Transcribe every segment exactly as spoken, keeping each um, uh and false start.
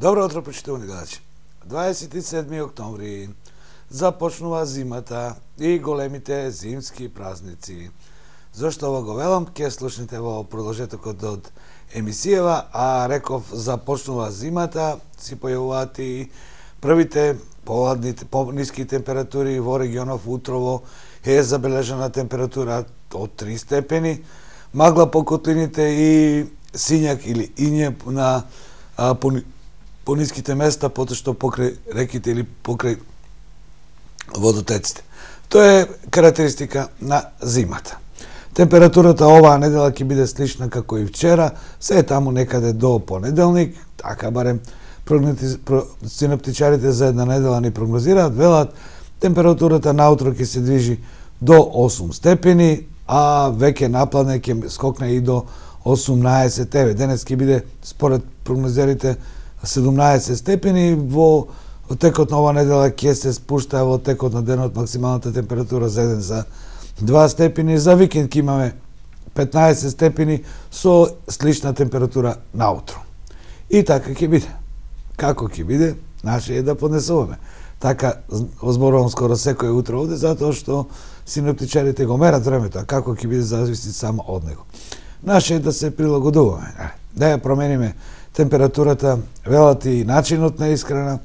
Добро утро, почитувани гледачи. дваесет и седми октомври започнува зимата и големите зимски празници. Зошто ова го велам, ќе слушнете во продолжетокот од емисијава, а реков започнува зимата, си појавуваат и првите поладни, по-ниски температури во регионов. Утрово е забележана температура од три степени, магла по котлините и сињак или иње на а, по, по ниските места, потоа покрај реките или покрај водотеците. Тоа е карактеристика на зимата. Температурата оваа недела ќе биде слична како и вчера, се е таму некаде до понеделник, така барем синоптичарите за една недела ни прогнозираат, велат температурата наутро ќе се движи до осум степени, а веќе напладне ќе скокне и до осумнаесет. Еве, денес ќе биде според прогнозерите седумнаесет степени, во текот на оваа недела ќе се спушта во текот на денот максималната температура за еден за два степени, за викенд ќе имаме петнаесет степени со слична температура наутро. И така ќе биде. Како ќе биде, наше е да поднесуваме. Така озборувам скоро секој утро овде, затоа што синоптичарите го мерат времето, а како ќе биде зависи само од него. Наше е да се прилагодуваме, да ја промениме температурата, велат и начинот на исхрана,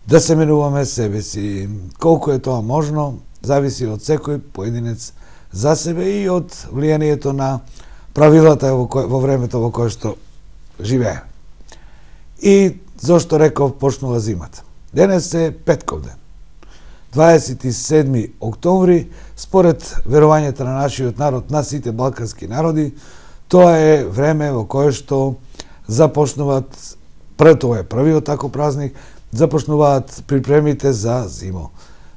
да се менуваме себе си. Колку е тоа можно, зависи од секој поединец за себе и од влијанието на правилата во, кој, во времето во кое што живее. И зошто реков почнува зимата? Денес е петков ден, дваесет и седми октомври, според верувањето на нашиот народ, на сите балкански народи, тоа е време во кое што започнуваат, прв тоа е првиот тако празник, започнуваат припремите за зимо.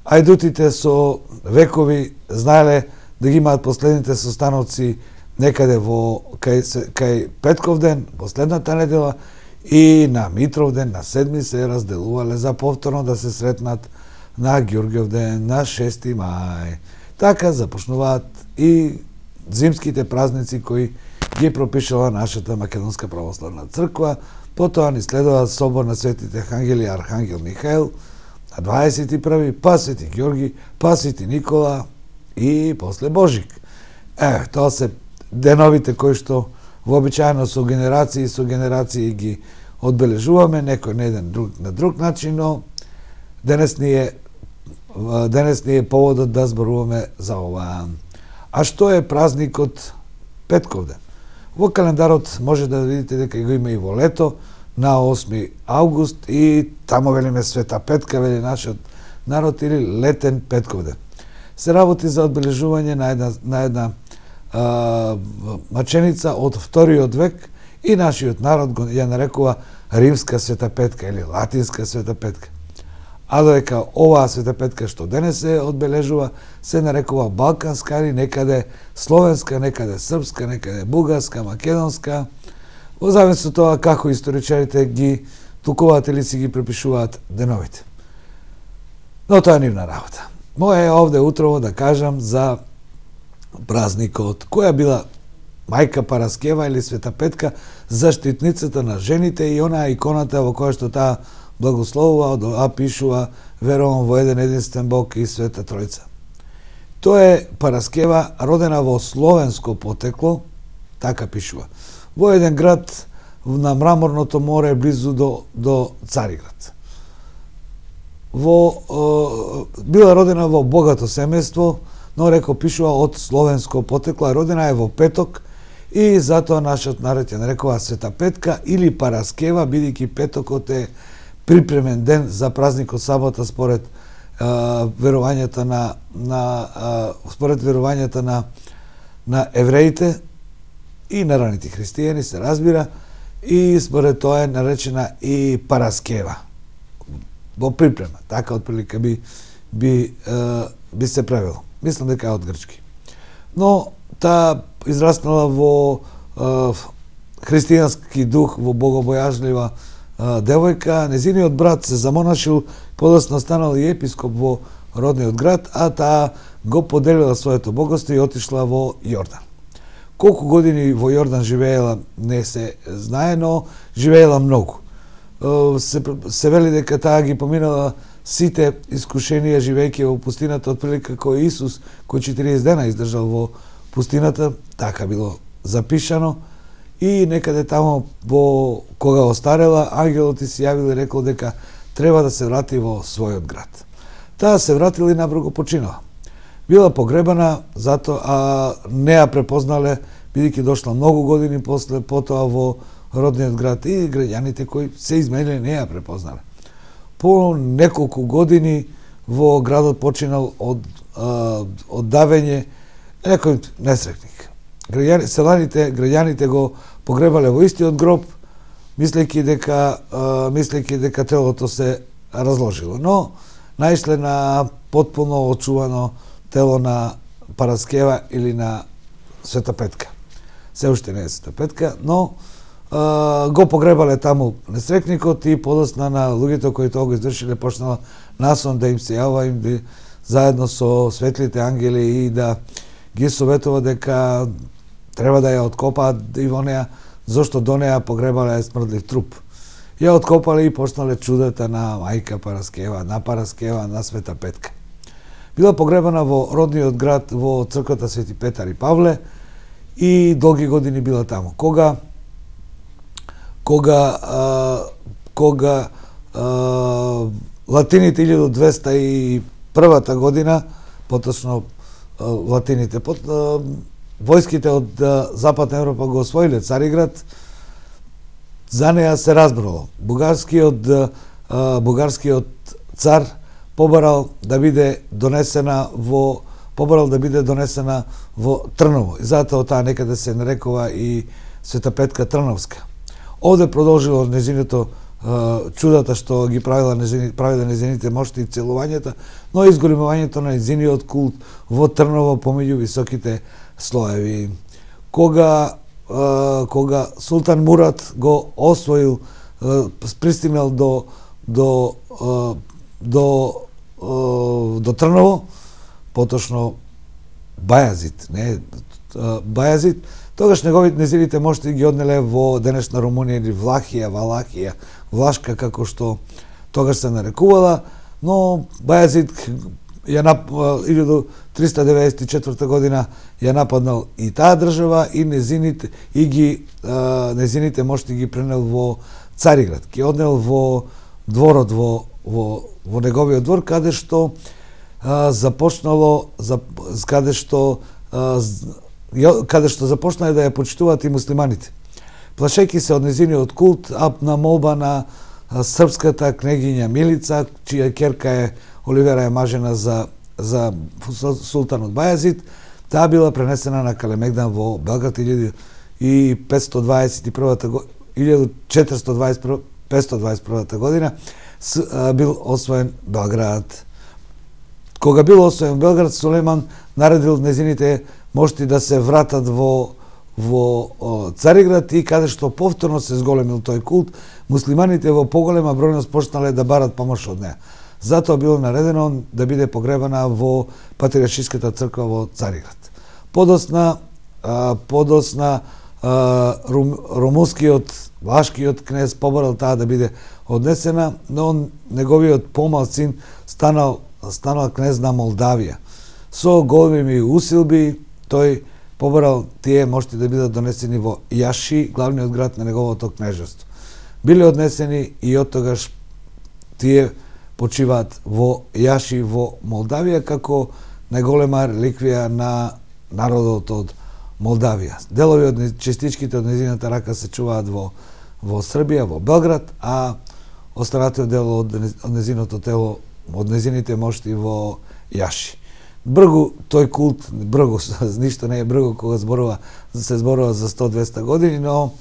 Ајдутите со векови знаеле да ги имаат последните состаноци некаде во кај, кај петков ден, последната недела, и на Митров ден, на седми се разделувале за повторно да се сретнат на Ѓурѓев ден, на шести мај. Така започнуваат и зимските празници кои ги пропишала нашата Македонска православна црква. Потоа ни следува собор на светите Архангели и Архангел Михаил, на дваесет и први, па Свети Ѓорги, па Свети Никола и после Божик. Е, тоа се деновите кои што вообичаено со генерации со генерации ги одбележуваме, некој на еден друг на друг начин, но денес ни е денес ни е поводот да зборуваме за ова. А што е празникот петков ден? Во календарот може да видите дека го има и во лето, на осми август, и тамо велиме Света Петка, вели нашиот народ, или летен петков ден. Се работи за одбележување на една, на една а, маченица од вториот век, и нашиот народ го ја нарекува Римска Света Петка или Латинска Света Петка. А додека оваа Света Петка што денес се одбележува, се нарекува Балканска или некаде Словенска, некаде Српска, некаде Бугарска, Македонска, во зависност од тоа како историчарите ги тукуваат или си ги препишуваат деновите. Но тоа е нивна работа. Моја е овде утрово да кажам за празникот. Која била мајка Параскева или Света Петка, заштитницата на жените и онаа иконата во која што таа благословува, а пишува верувам во еден единствен Бог и Света Тројца. Тоа е Параскева, родена во словенско потекло, така пишува, во еден град на Мраморното море близу до, до Цариград. Во, е, била родена во богато семејство, но реко пишува од словенско потекло, родена е во петок, и затоа нашиот народ ја нарекува Света Петка или Параскева, бидејќи петокот е припремен ден за празникот сабота според е, верувањата на, на е, според верувањата на на евреите и на раните христијани, се разбира, и според тоа е наречена и Параскева во припрема. Така отприлика би би е, би се правило. Мислам дека е од грчки. Но таа израснала во е, христијански дух, во богобојажлива девојка, незиниот брат се замонашил, подоцна станал и епископ во родниот град, а таа го поделила своето богатство и отишла во Јордан. Колку години во Јордан живеела не се знае, но живеела многу. се, се вели дека таа ги поминала сите искушенија живејќи во пустината, отприлика како Исус, кој четириесет дена издржал во пустината, така било запишано. И некаде тамо, во кога остарела, ангелот и се јавил и рекол дека треба да се врати во својот град. Таа се вратила и набрзо починала. Била погребана, затоа а не ја препознале, бидејќи дошла многу години после потоа во родниот град, и граѓаните кои се измениле не ја препознале. По неколку години во градот починал од а, од давење некој несрекник. Граѓани, селаните, граѓаните го погребале во истиот гроб, мислејќи дека а, мислејќи дека телото се разложило, но наишле на потпуно очувано тело на Параскева или на Света Петка. Се уште не е Света Петка, но а, го погребале таму несрекникот и подосна на луѓето кои тоа го извршиле почнала насон да им се јава им да, заедно со светлите ангели и да ги советува дека треба да ја откопаат и во неа, зашто до неа погребале смрдлив труп. Ја откопале и почнале чудата на мајка Параскева, на Параскева, на Света Петка. Била погребана во родниот град, во црквата Свети Петар и Павле, и долги години била таму. Кога кога а, кога а, латините илјадум двеста и првата година, поточно а, латините, пот, а, војските од а, Западна Европа го освоиле Цариград, за неа се разбрало. Бугарскиот а, бугарскиот цар побарал да биде донесена во побарал да биде донесена во Трново. И затоа таа некаде се нарекува и Света Петка Трновска. Овде продолжило незиното чудата што ги правила незини, правила незините мошти и целувањата, но и изголемувањето на незиниот култ во Трново помеѓу високите слоеви. Кога кога Султан Мурат го освоил, пристигнал до до до до Трново, поточно Бајазид, не Бајазид, тогаш неговите незините мошти ги однеле во денешна Румунија или Влахија, Валахија, Влашка, како што тогаш се нарекувала, но Бајазид ја нап... илјадум триста деветдесет и четврта година ја нападнал и таа држава и незините и ги а, незините мошти ги пренел во Цариград, ги однел во дворот во во во неговиот двор, каде што а, започнало за каде што а, каде што започнале да ја почитуваат и муслиманите. Плашејќи се од незиниот култ, а на молба на а, српската кнегиња Милица, чија ќерка е Оливера е мажена за за султанот Бајазид, таа била пренесена на Калемегдан во Белград илјадум петстотини дваесет и првата илјадум четиристотини дваесет и прва петстотини дваесет и првата година с, а, бил освоен Белград. Кога бил освоен Белград, Сулейман наредил незините мошти да се вратат во во о, Цариград, и каде што повторно се зголемил тој култ, муслиманите во поголема бројност почнале да барат помош од неа. Затоа било наредено да биде погребана во Патриаршиската црква во Цариград. Подосна а, подосна а, рум, румунскиот влашкиот кнез побарал таа да биде однесена, но неговиот помал син станал станал кнез на Молдавија. Со големи усилби тој побарал тие мошти да бидат донесени во Јаши, главниот град на неговото кнежество. Биле однесени и од тогаш тие почиваат во Јаши во Молдавија како најголема реликвија на народот од Молдавија. Делови од частичките од незината рака се чуваат во во Србија, во Белград, а останатиот дел од, од незиното тело, од незините мошти во Јаши. Бргу тој култ, бргу, ништо не е бргу кога зборува, се зборува за сто до двесте години, но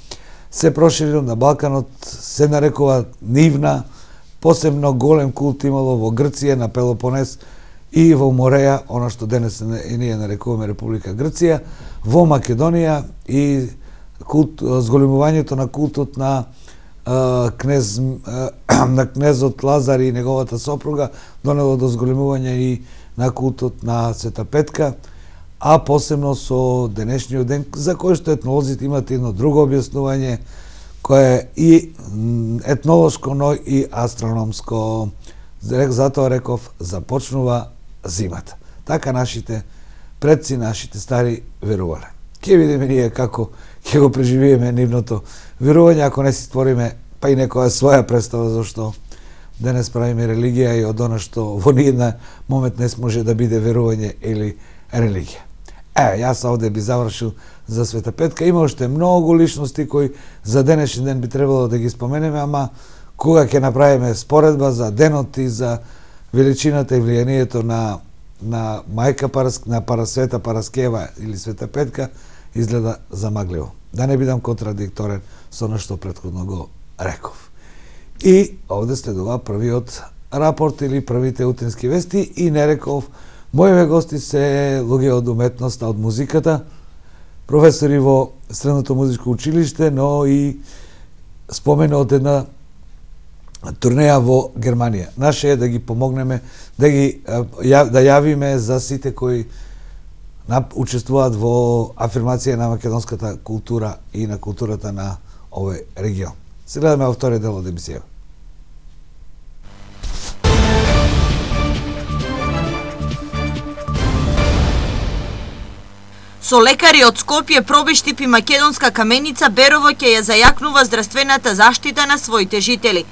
се проширил на Балканот, се нарекува нивна, посебно голем култ имало во Грција, на Пелопонес и во Мореја, она што денес и ние нарекуваме Република Грција, во Македонија, и култ, зголемувањето на култот на а, кнез а, на кнезот Лазар и неговата сопруга донело до зголемување и на култот на Света Петка, а посебно со денешниот ден, за кој што етнолозите имат едно друго објаснување, кое е и етнолошко, но и астрономско. Затоа реков, започнува зимата. Така нашите предци, нашите стари верувале. Ке видиме ние како ќе го преживиеме нивното верување, ако не си створиме па и некоја своја представа зашто денес правиме религија и од она што во ниедна момент не може да биде верување или религија. Е, јас овде би завршил за Света Петка. Има уште многу личности кои за денешен ден би требало да ги споменеме, ама кога ќе направиме споредба за денот и за величината и влијанието на на мајка Параск, на Парасвета Параскева или Света Петка, изгледа замагливо. Да не бидам контрадикторен со она што претходно го реков. И овде следува првиот рапорт или првите утрински вести и не реков, мојове гости се луѓе од уметноста, од музиката, професори во Средното музичко училиште, но и спомена од една турнеја во Германија. Наше е да ги помогнеме, да ги да јавиме за сите кои учествуваат во афирмација на македонската култура и на културата на овој регион. Се гледаме во вториот дел од емисија. Со лекари од Скопје, Пробиштип и Македонска Каменица, Берово ќе ја зајакнува здравствената заштита на своите жители.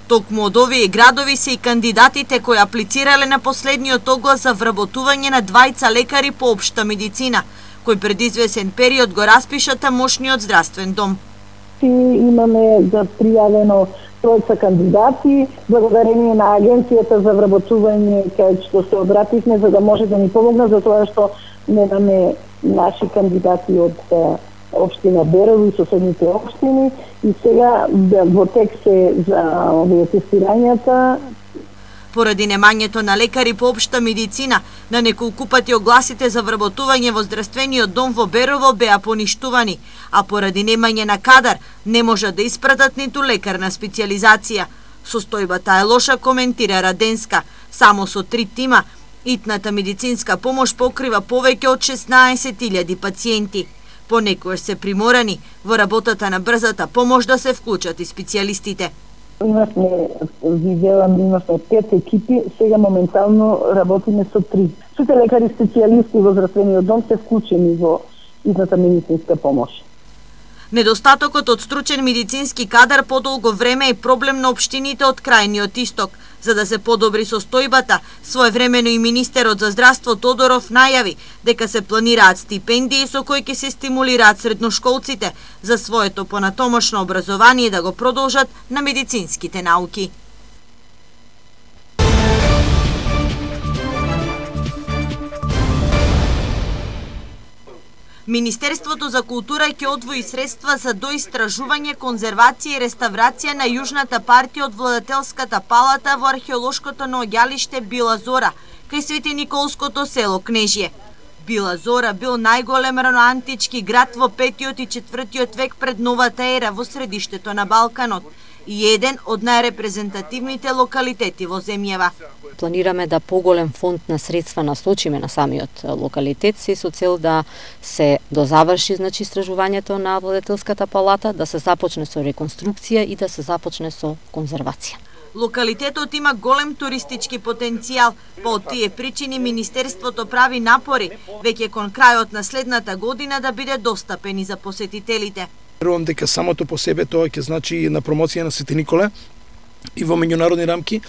Токму од овие градови се и кандидатите кои аплицирале на последниот оглас за вработување на двајца лекари по општа медицина, кои пред извесен период го распиша тамошниот здравствен дом. Имаме за пријавено тројца кандидати, благодарение на агенцијата за вработување кај што се обративме за да може да ни помогна за тоа што немаме наши кандидати од општина Берово и соседните општини и сега во тек се за овие тестирањата. Поради немањето на лекари по општа медицина, на неколку пати огласите за вработување во здравствениот дом во Берово беа поништувани, а поради немање на кадар не можат да испратат ниту лекарна специјализација. Состојбата е лоша, коментира Раденска. Само со три тима итната медицинска помош покрива повеќе од шеснаесет илјади пациенти. Понекогаш се приморани во работата на брзата помош да се вклучат и специјалистите. Имавме, виделам, имавме пет екипи, сега моментално работиме со три. Сите лекари специјалисти во здравствениот дом се вклучени во итната медицинска помош. Недостатокот од стручен медицински кадар подолго време е проблем на општините од крајниот исток. За да се подобри состојбата, своевремено и министерот за здравство Тодоров најави дека се планираат стипендии со кои ќе се стимулираат средношколците за своето понатомошно образование да го продолжат на медицинските науки. Министерството за култура ќе одвои средства за доистражување, конзервација и реставрација на јужната партија од владетелската палата во археолошкото наоѓалиште Била Зора, кај Свети Николското село Кнежје. Била Зора бил најголем раноантички град во петиот и четвртиот век пред новата ера во средиштето на Балканот и еден од најрепрезентативните локалитети во земјава. Планираме да поголем фонд на средства насочиме на самиот локалитет, се со цел да се дозаврши значи истражувањето на владетелската палата, да се започне со реконструкција и да се започне со конзервација. Локалитетот има голем туристички потенцијал, по од тие причини Министерството прави напори веќе кон крајот на следната година да биде достапен и за посетителите. Верувам дека самото по себе тоа ќе значи на промоција на Свети Николе и во меѓународни рамки.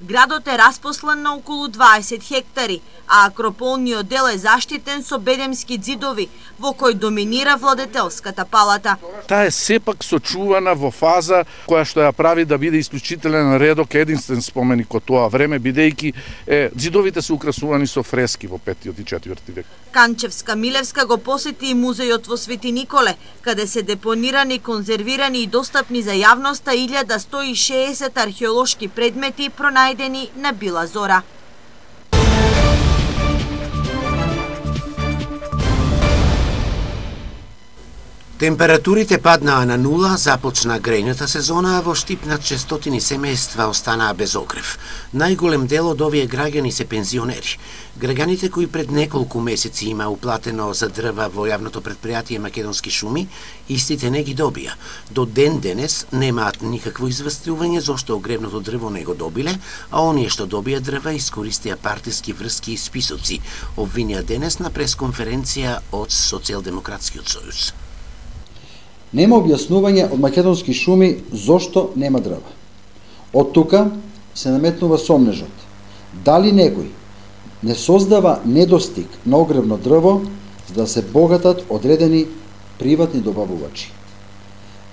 Градот е распослан на околу дваесет хектари, а акрополниот дел е заштитен со бедемски ѕидови, во кој доминира владетелската палата. Таа е сепак сочувана во фаза која што ја прави да биде исклучителен редок, единствен споменик од тоа време, бидејќи е, ѕидовите се украсувани со фрески во петиот и четврти век. Канчевска Милевска го посети и музејот во Свети Николе, каде се депонирани, конзервирани и достапни за јавноста илјада сто и шеесет археолошки предмети пронајдени на Била Зора. Температурите паднаа на нула, започна грејната сезона, а во Штип над шестстотини семејства останаа без огрев. Најголем дел од овие граѓани се пензионери. Граѓаните кои пред неколку месеци има уплатено за дрва во јавното претпријатие Македонски шуми, истите не ги добија. До ден денес немаат никакво известување зошто огревното дрво не го добиле, а оние што добија дрва искористија партиски врски и списоци, обвинија денес на пресконференција од Социјалдемократскиот сојуз. Нема објаснување од Македонски шуми зошто нема дрва. Од тука се наметнува сомнежот. Дали некој не создава недостиг на огревно дрво за да се богатат одредени приватни добавувачи.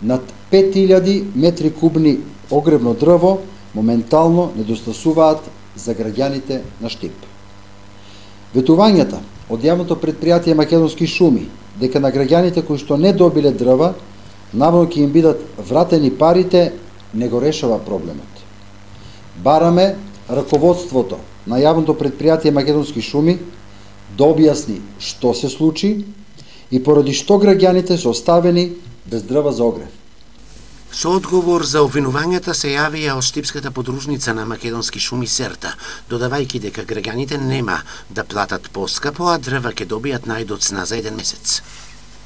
Над пет илјади метри кубни огревно дрво моментално недостасуваат за граѓаните на Штип. Ветувањата од јавното претпријатие Македонски шуми дека на граѓаните кои што не добиле дрва наводно ќе им бидат вратени парите не го решава проблемот. Бараме раководството на јавното претпријатие Македонски шуми да објасни што се случи и поради што граѓаните се оставени без дрва за огрев. Со одговор за обвинувањата се јавија од Штипската подружница на Македонски шуми Серта, додавајќи дека граѓаните нема да платат поскапо, а дрва ќе добијат најдоцна за еден месец.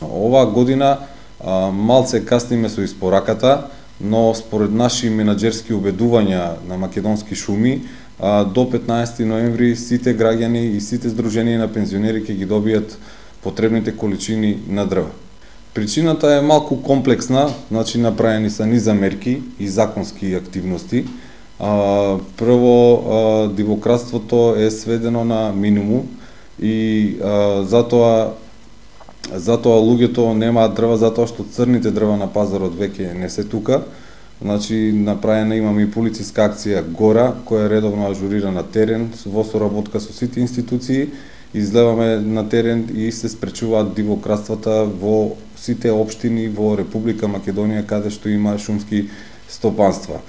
Оваа година а, малце касниме со испораката, но според наши менаџерски убедувања на Македонски шуми, а, до петнаесети ноември сите граѓани и сите здруженија на пензионери ќе ги добијат потребните количини на дрва. Причината е малку комплексна, значи направени се низа мерки и законски активности. А, прво, а, дивократството е сведено на минимум и а, затоа затоа луѓето немаат дрва затоа што црните дрва на пазарот веќе не се тука. Значи направена имаме и полициска акција Гора, која е редовно ажурира на терен во соработка со сите институции. Излеваме на терен и се спречуваат дивократствата во сите општини во Република Македонија каде што има шумски стопанства.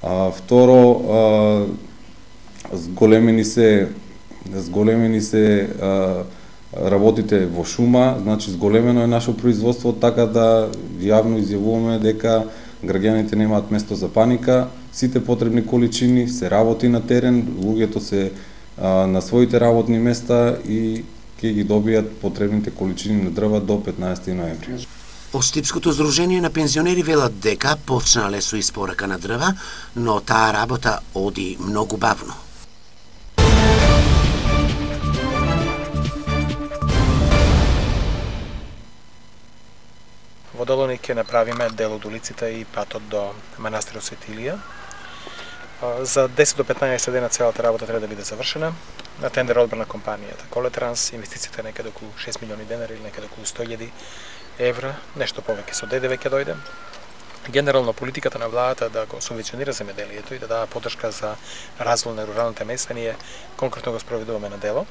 А, второ, а, зголемени се зголемени се а, работите во шума, значи зголемено е наше производство, така да јавно изјавуваме дека граѓаните немаат место за паника, сите потребни количини се работи на терен, луѓето се а, на своите работни места и ќе ги добијат потребните количини на дрва до петнаесети ноември. Од Штипското здружение на пензионери велат дека почнале со испорака на дрва, но таа работа оди многу бавно. Во Долоник ќе направиме дел од улиците и патот до манастирот Свети Илија. За десет до петнаесет дена целата работа треба да биде завршена. На тендер одбрана компанијата Колетранс, инвестицијата е некаде околу шест милиони денари или некаде околу сто илјади евра, нешто повеќе со ДДВ ќе дојде. Генерално политиката на владата да го субвенционира земјоделието и да дава поддршка за развој на руралните места, ние конкретно го спроведуваме на дело.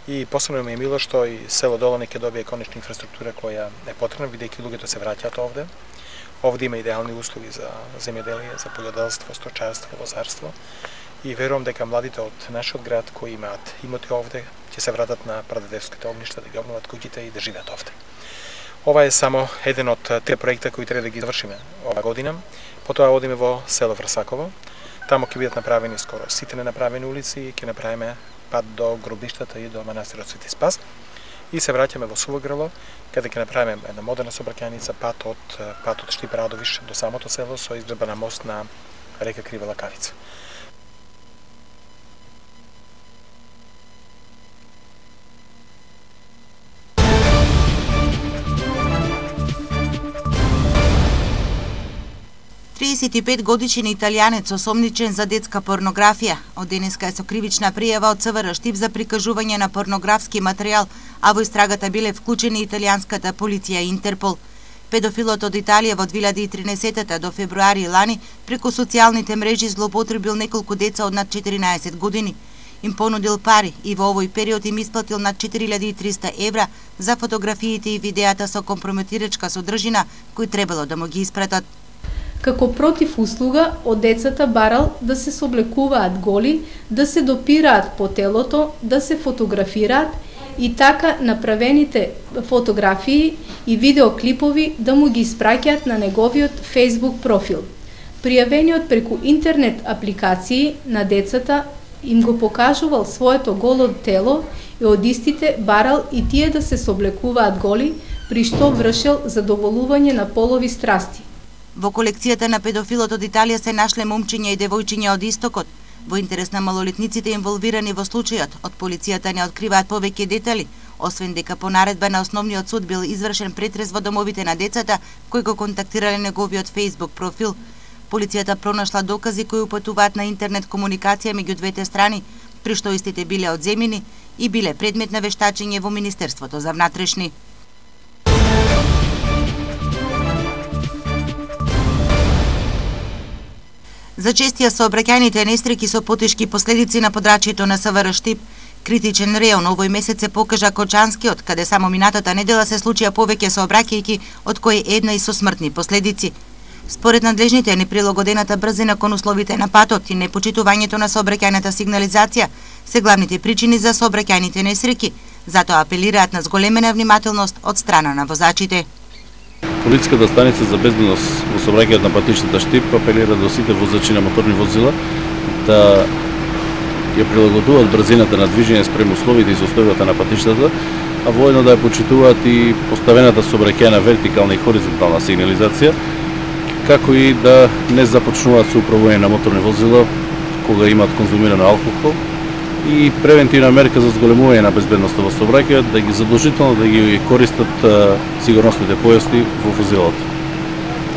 И посебно ми е мило што и село Долоник ќе добие конечна инфраструктура која е потребна, бидејќи луѓето се враќаат овде. Овде има идеални услови за земјоделие, за пољоделство, сточарство, лозарство. И верувам дека младите од нашиот град кои имаат имоти овде ќе се вратат на прадедовските огништа, да ги обноват куќите и да живеат овде. Ова е само еден од три проекта кои треба да ги завршиме оваа година. Потоа одиме во село Врсаково. Тамо ќе бидат направени скоро сите ненаправени улици и ќе направиме пат до гробиштата и до манастирот Свети Спас. И се враќаме во Суво Грло, каде ќе направиме една модерна сообраќајница, пат од пат од Штип Радовиш до самото село со изградба на мост на река Крива Лакавица. триесет и пет годишен италијанец осомничен за детска порнографија. Од денеска е со кривична пријава од ЦВР Штип за прикажување на порнографски материјал, а во истрагата биле вклучени италијанската полиција и Интерпол. Педофилот од Италија во две илјади и тринаесета до февруари лани преку социјалните мрежи злоупотребил неколку деца од над четиринаесет години. Им понудил пари и во овој период им исплатил над четири илјади и триста евра за фотографиите и видеата со компрометирачка содржина кои требало да му ги испратат. Како против услуга, од децата барал да се соблекуваат голи, да се допираат по телото, да се фотографираат и така направените фотографии и видеоклипови да му ги испраќаат на неговиот Facebook профил. Пријавениот преку интернет апликации на децата им го покажувал своето голо тело и од истите барал и тие да се соблекуваат голи, при што вршел задоволување на полови страсти. Во колекцијата на педофилот од Италија се нашле момчиња и девојчиња од истокот. Во интерес на малолетниците инволвирани во случајот, од полицијата не откриваат повеќе детали, освен дека по наредба на основниот суд бил извршен претрес во домовите на децата кои го контактирале неговиот Facebook профил. Полицијата пронашла докази кои упатуваат на интернет комуникација меѓу двете страни, при што истите биле одземени и биле предмет на вештачење во Министерството за внатрешни. За честија сообраќајните несреќи со потешки последици на подрачјето на СВР Штип, критичен реон овој месец се покажа Кочанскиот, каде само минатата недела се случија повеќе сообраќајки, од кои една и со смртни последици. Според надлежните, неприлагодената брзина кон условите на патот и непочитувањето на сообраќајната сигнализација се главните причини за сообраќајните несреќи, затоа апелираат на зголемена внимателност од страна на возачите. Полициската станица за безбедност во сообраќајот на патиштата Штип апелира до сите возачи на моторни возила да ја прилагодуваат брзината на движење спрема условите и состојбата на патиштата, а воедно да ја почитуваат и поставената сообраќајна вертикална и хоризонтална сигнализација, како и да не започнуваат со управување на моторни возила кога имаат конзумирано алкохол, и превентивна мерка за зголемување на безбедноста во сообраќајот, да ги задолжително да ги користат а, сигурносните појасни во возилото.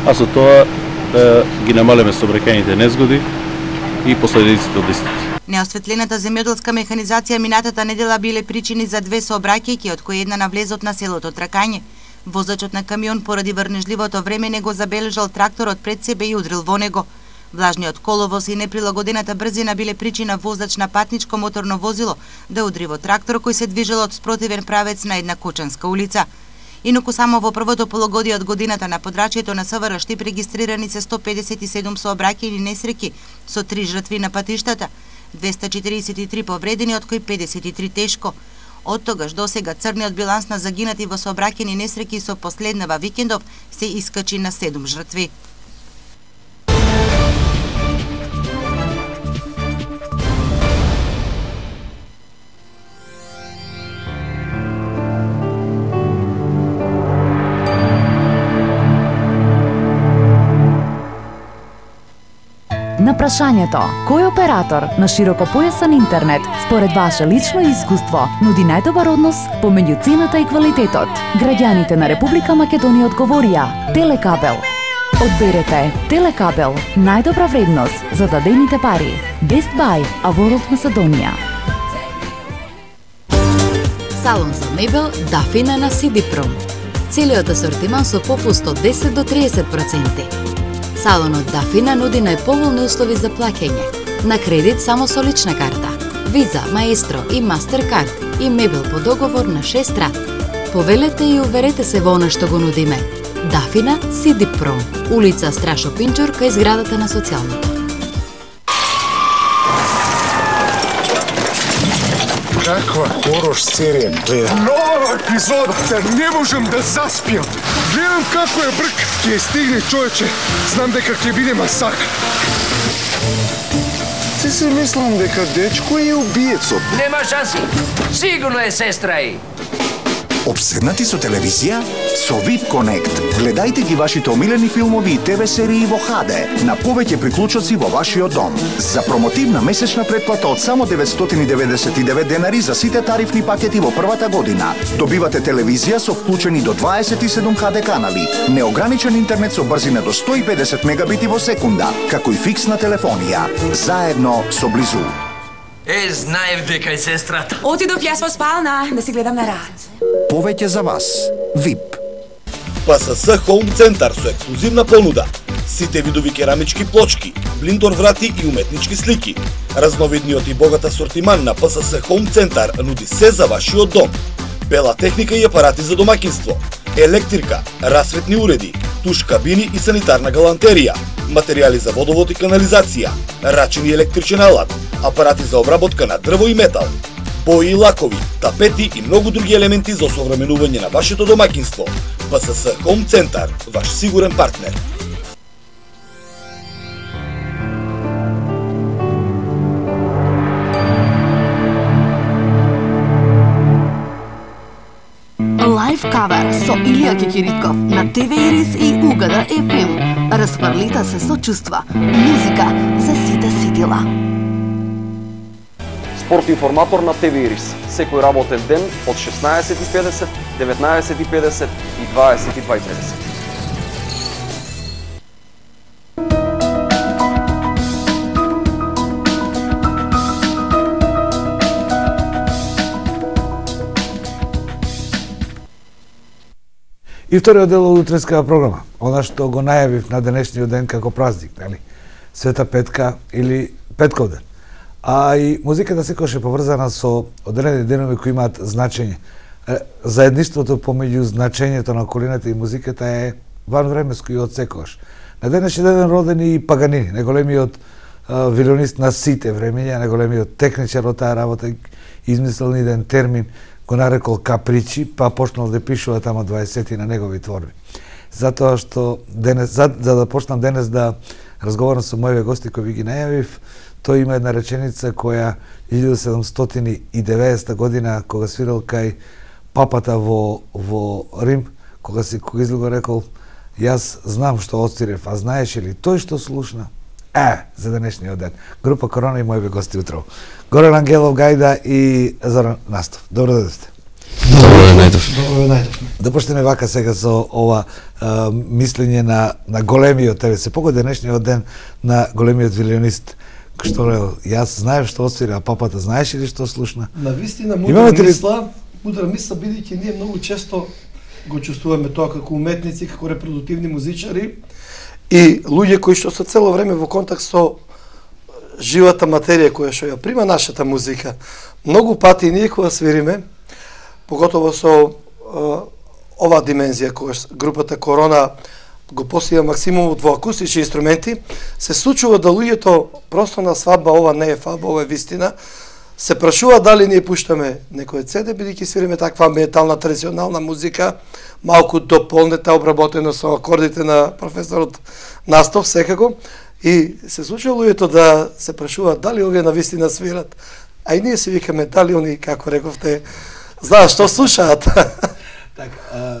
А со тоа да ги намалиме сообраќајните незгоди и последиците од истите. Неосветлената земјоделска механизација минатата недела биле причини за две сообраќајки, од кои една на влезот на селото Тракање. Возачот на камион поради врнежливото време не го забележал тракторот пред себе и удрил во него. Влажниот коловоз и неприлагодената брзина биле причина возач на патничко моторно возило да удри во трактор кој се движел од спротивен правец на една Кочанска улица. Инаку само во првото полугодие од годината на подрачјето на СВР Штип регистрирани се сто педесет и седум сообраќајни несреќи со три жртви на патиштата, двеста четиридесет и три повредени, од кои педесет и три тешко. Од тогаш до сега црниот биланс на загинати во сообраќајни несреќи со последнава викендов се искачи на седум жртви. На прашањето кој оператор на широкопојасен интернет според ваше лично искуство нуди најдобар однос помеѓу цената и квалитетот, граѓаните на Република Македонија одговорија Телекабел. Одберете Телекабел, најдобра вредност за дадените пари. Best Buy, Аворот Македонија. Салон за мебел Дафина на Сидипром. Целиот асортиман со попуст од десет до триесет проценти. Салонот Дафина нуди најповолни услови за плаќање. На кредит само со лична карта, Виза, Маестро и Мастеркард и мебел по договор на шест рат. Повелете и уверете се во она што го нудиме. Дафина, Сидипром, улица Страшо Пинчур, кај зградата на социјалното. Каква хорош серија гледам? Нова епизода, да не можам да заспиам. Гледам како е брк. Ке стигне, човече. Знам дека ќе биде масакр. Се се мислам дека дечко е убиецот. Нема шанси. Сигурно е сестра и. Обседнати со телевизија? Со ви ай пи Connect гледајте ги вашите омилени филмови и ТВ серии во Х Д на повеќе приклучоци во вашиот дом. За промотивна месечна претплата од само деветстотини деветдесет и девет денари за сите тарифни пакети во првата година. Добивате телевизија со вклучени до дваесет и седум Х Д канали, неограничен интернет со брзина до сто и педесет мегабити во секунда, како и фиксна телефонија. Заедно со Близу. Е, знаев дека е сестрата. Отидов јас во спална да си гледам на рад. Повеќе за вас. ви ай пи. ПСС Хоум Центар со ексклузивна понуда. Сите видови керамички плочки, блиндор врати и уметнички слики. Разновидниот и богат асортиман на ПСС Хоум Центар нуди се за вашиот дом. Бела техника и апарати за домаќинство, електрика, расветни уреди, туш кабини и санитарна галантерија, материјали за водовод и канализација, рачен и електричен алат, апарати за обработка на дрво и метал, бои и лакови, тапети и многу други елементи за осовременување на вашето домаќинство. ПСС Хоум Центар, ваш сигурен партнер. Лайф кавер со Илија Кекиритков на Т В Ирис и Угада Ф М. Расфрлита се со чувства. Музика за сите сетила. Спорт информатор на Т В Ирис. Секој работен ден од шеснаесет и педесет, деветнаесет и педесет и дваесет и два и педесет. И вториот дел од утренската програма, она што го најавив на денешниот ден како празник, нели? Света Петка или Петков ден. А и музиката секогаш е поврзана со одредени денови кои имаат значење. Заедништвото помеѓу значењето на околината и музиката е ванвремеско и од секогаш. На денешниот ден роден и Паганини, најголемиот вилионист на сите времења, најголемиот техничар од таа работа, измислил еден термин, го нарекол капричи, па почнал да пишува тамо дваесет на негови творби. Затоа што денес, за, за да почнам денес да разговарам со моите гости кои ви ги најавив, тој има една реченица која илјада седумстотини и деветдесета година кога свирал кај папата во во Рим, кога си кога излего рекол: "Јас знам што отстирев, а знаеш ли тој што слушна?" Е, за денешниот ден. Група Корона и моите гости утро. Горан Ангелов Гајда и Зоран Настов. Добро дојдовте. Добро ве најдов. Добро ве најдов. Да почнеме вака сега со ова а, мислење на на големиот тебе се погоди денешниот ден на големиот вилионист кој што рел: "Јас знаев што отсвира, а папата знаеш ли што слушна?" На вистина мудра мисла, мудра мисла бидејќи ние многу често го чувствуваме тоа како уметници, како репродуктивни музичари и луѓе кои што се цело време во контакт со живата материја која што ја прима нашата музика. Многу пати ние кога свириме, поготово со е, ова димензија која групата Корона го постига максимумот во акустични инструменти, се случува да луѓето просто на свадба, ова не е фаба, ова е вистина, се прашува дали ние пуштаме некој цеде, бидејќи свириме таква метална традиционална музика, малку дополнета, обработена со акордите на професорот Настов секако, и се случува луѓето да се прашуваат дали овие навистина свират. А и ние се викаме дали они, како рековте, знаат што слушаат. Така,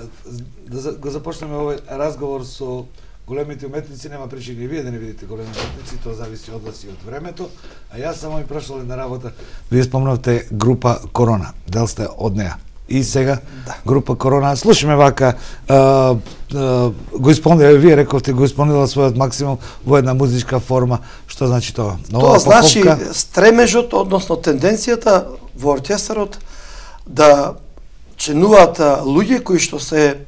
да го започнеме овој разговор со големите уметници, нема причини вие да не видите големи уметници, тоа зависи од вас и од времето, а јас само ми прашал една работа. Вие спомнавте група Корона, дел сте од неа. И сега да. Група Корона, слушаме вака, а, а, го исполнила, вие рековте, го исполнила својот максимум во една музичка форма. Што значи тоа? Нова тоа значи поповка? Стремежот, односно тенденцијата во оркестарот да членуваат луѓе кои што се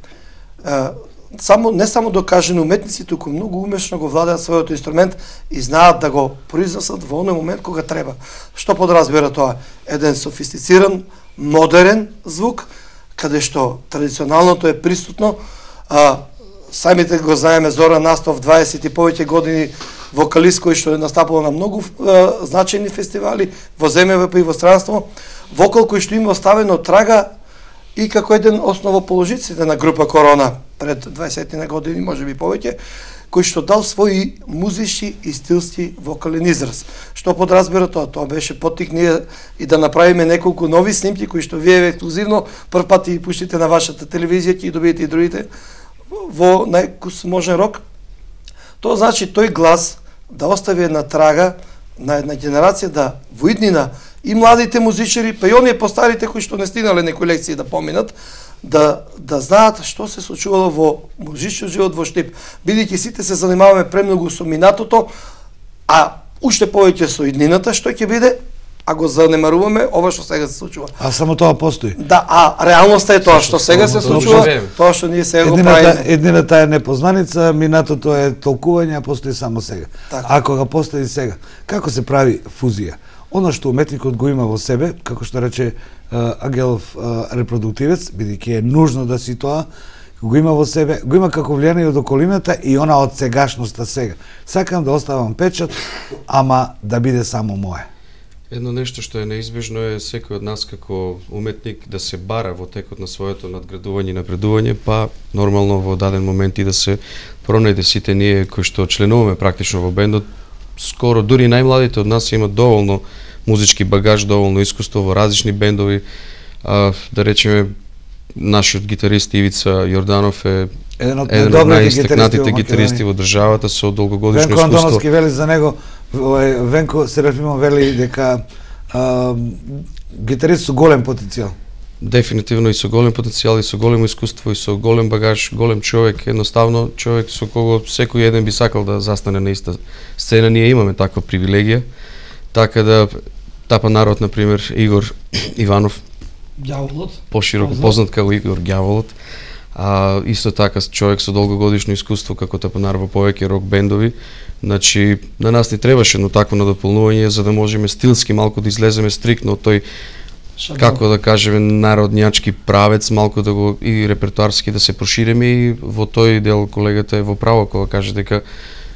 а, само не само докажени уметници, туку многу умешно го владеат својот инструмент и знаат да го произнесат во оној момент кога треба. Што подразбира тоа? Еден софистициран, модерен звук, каде што традиционалното е присутно. А, самите го знаеме Зоран Настов, дваесет и повеќе години вокалист кој што е настапувал на многу а, значајни фестивали во земјава и во странство, вокал кој што има оставено трага и како еден основоположиците на група Корона пред дваесет на години, може би повеќе, кој што дал своји музички и стилски вокален израз. Што подразбира тоа? Тоа беше поттик ние и да направиме неколку нови снимки кои што вие ексклузивно прв пат и пуштите на вашата телевизија, ќе добиете и другите во најможен рок. Тоа значи тој глас да остави една трага на една генерација, да во иднина и младите музичари, па и оние постарите кои што не стигнале некои лекции да поминат, да да знаат што се случувало во музичниот живот во Штип, бидејќи сите се занимаваме премногу со минатото, а уште повеќе со иднината што ќе биде, а го занемаруваме ова што сега се случува. А само тоа постои. Да, а реалноста е тоа што сега се случува, тоа што ние сега го правиме. Еднината е непознаница, минатото е толкување, а постои само сега. Так. А кога постои сега, како се прави фузија? Оно што уметникот го има во себе, како што рече Ангелов, репродуктивец, бидејќи е нужно да си тоа, го има во себе, го има како влијание од околината и она од сегашноста сега. Сакам да оставам печат, ама да биде само мое. Едно нешто што е неизбежно е секој од нас како уметник да се бара во текот на своето надградување и напредување, па нормално во даден момент и да се пронајде сите ние кои што членуваме практично во бендот. Скоро дури најмладите од нас имаат доволно музички багаж, доволно искуство во различни бендови, а, да речеме нашиот гитарист Ивица Јорданов е еден од еден од најистакнатите гитаристи во државата со долгогодишно Венко искуство. Антоновски вели за него, Венко Серафимов вели дека а, гитарист со голем потенцијал. Дефинитивно и со голем потенцијал, и со големо искуство, и со голем багаж, голем човек, едноставно човек со кого секој еден би сакал да застане на иста сцена. Ние имаме таква привилегија, така да тапа народ, например, Игор Иванов, Ѓаволот, пошироко познат како Игор Ѓаволот, а исто така човек со долгогодишно искуство како тапанар во повеќе рок бендови. Значи, на нас ни требаше едно такво надополнување за да можеме стилски малку да излеземе стриктно од тој, како да кажеме, народњачки правец, малку да го и репертуарски да се прошириме, и во тој дел колегата е во право кога каже дека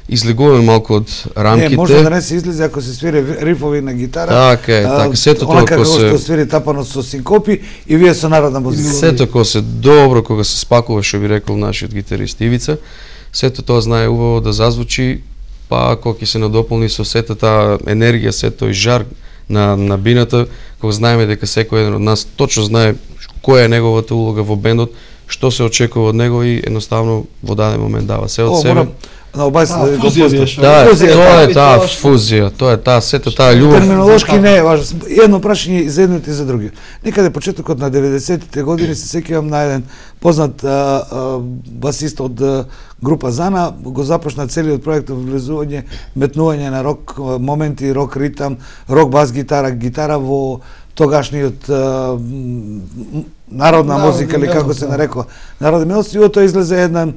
излегуваме малку од рамките. Не, може да не се излезе ако се свири рифови на гитара. Така е, така, сето тоа кога се што свири тапано со синкопи и вие со народна музика. Сето кога се добро, кога се спакува, што би рекол нашиот гитарист Ивица, сето тоа знае убаво да зазвучи, па кога ќе се надополни со сета таа енергија, сето тој жар на на бината, кога знаеме дека секој еден од нас точно знае која е неговата улога во бендот, што се очекува од него и едноставно во даден момент дава се од себе. На обај се да го постав. Да, тоа е таа фузија, тоа е таа сета таа љубов. Терминолошки не е важно. Едно прашање и за едното и за другиот. Некаде почетокот на деветдесетите години се сеќавам на еден познат а, а, басист од а, група Зана, го започна целиот проект влезување, метнување на рок моменти, рок ритам, рок бас гитара, гитара во тогашниот а, народна музика или како се нарекува. Народна мелодија, и тоа излезе една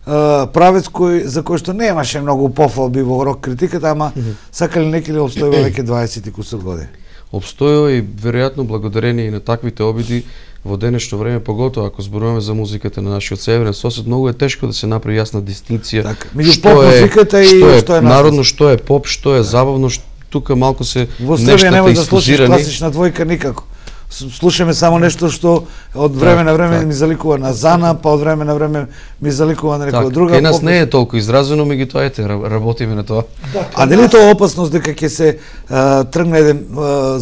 Uh, правец кој за кој што немаше многу пофалби во рок критиката, ама mm -hmm. сакали некој да обстојува веќе дваесет и кусур години. Обстојува и веројатно благодарение и на таквите обиди во денешно време, поготоа ако зборуваме за музиката на нашиот северен сосед, многу е тешко да се направи јасна дистинкција. Така, меѓу поп музиката и што е, што е народно, што е поп, што е забавно, што тука малку се во Србија не може да слушаш класична двојка никако. Слушаме само нешто што од време на време ми заликува на Зана, па од време на време ми заликува на некоја друга. Кај нас не е толку изразено, меѓутоа ете работиме на тоа. А нели тоа опасност дека ќе се тргне еден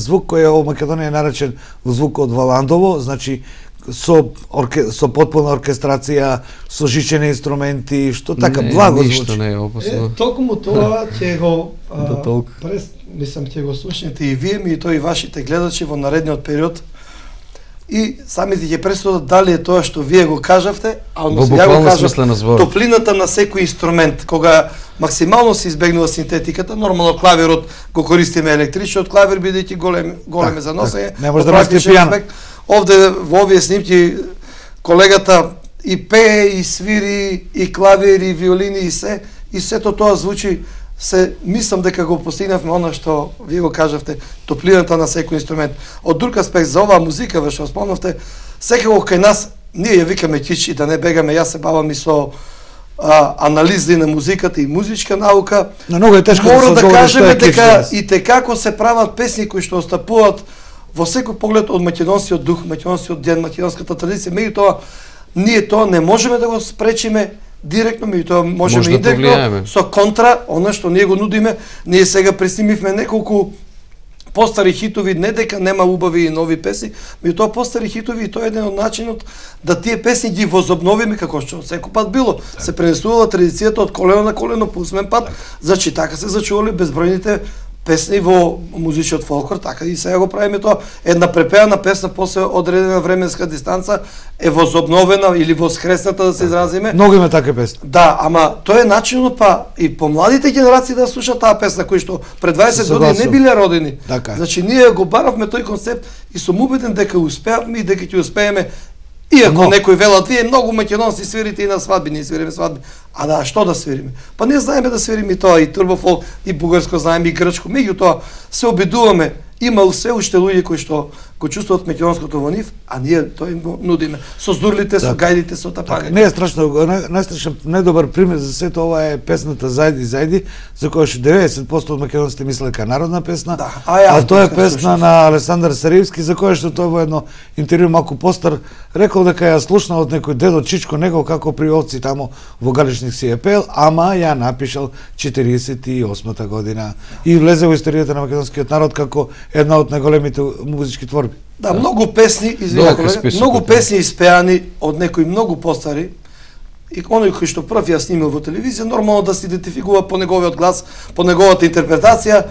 звук кој е во Македонија наречен звук од Валандово, значи со орке, со потпуна оркестрација, со жичени инструменти, што така не, благо звучи. Ништо не е опасно. Е, токму тоа ќе го да толку. Прес, мислам ќе го слушнете и вие ми и тој и вашите гледачи во наредниот период. И самите ќе пресудат дали е тоа што вие го кажавте, а односно ја го кажав, топлината на секој инструмент, кога максимално се избегнува синтетиката, нормално клавирот го користиме електричниот клавир бидејќи голем голем е за носење. Не може да носи пијано. Овде во овие снимки колегата и пее, и свири, и клавир, и виолини, и се, и сето тоа звучи. Се мислам дека го постигнавме она што вие го кажавте, топлината на секој инструмент. Од друг аспект за оваа музика, ве што спомнавте, секако кај нас ние ја викаме кич и да не бегаме, јас се бавам и со а, анализи на музиката и музичка наука. Но многу е тешко Мора да се да кажеме дека дека и те како се прават песни кои што остапуваат во секој поглед од македонскиот дух, македонскиот ден, македонската традиција, меѓутоа ние тоа не можеме да го спречиме директно, меѓутоа можеме Може и да индиректно со контра, она што ние го нудиме. Ние сега преснимивме неколку постари хитови, не дека нема убави и нови песни, меѓутоа постари хитови, и тоа е еден од начинот да тие песни ги возобновиме како што секој пат било. Так. Се пренесувала традицијата од колено на колено по усмен пат, так. Значи така се зачували безбројните песни во музичниот фолклор, така и сега го правиме тоа. Една препеана песна после одредена временска дистанца е возобновена или воскресната, да се изразиме. Многу има такви песни. Да, ама тоа е начинот па и помладите генерации да слушаат таа песна кои што пред дваесет години не биле родени. Така. Значи ние го баравме тој концепт и сум убеден дека успеавме и дека ќе успееме. Иако no. некои велат, вие многу македонци свирите и на свадби, ние свириме свадби. А да, што да свириме? Па ние знаеме да свириме и тоа, и турбофолк, и бугарско знаеме, и грчко. Меѓутоа се обидуваме, има се уште луѓе кои што го чувствуваат македонското во нив, а ние тоа им го нудиме. Со здурлите, со гајдите, со тапаните. Не е страшно, најстрашен, најдобар пример за сето ова е песната Зајди, Зајди, за која што деветдесет проценти од македонците мислеле дека народна песна, да. а, а тоа е песна на Александар Саривски, за која што тој во едно интервју малку постар рекол дека ја слушнал од некој дедо Чичко него како при овци тамо во Галичник си е пел, ама ја напишал четириесет и осмата година и влезе во историјата на македонскиот народ како една од најголемите музички творби. творби. Да, многу песни, извинете, колега, многу песни испеани од некои многу постари, и оној кој што прв ја снимил во телевизија, нормално да се идентификува по неговиот глас, по неговата интерпретација,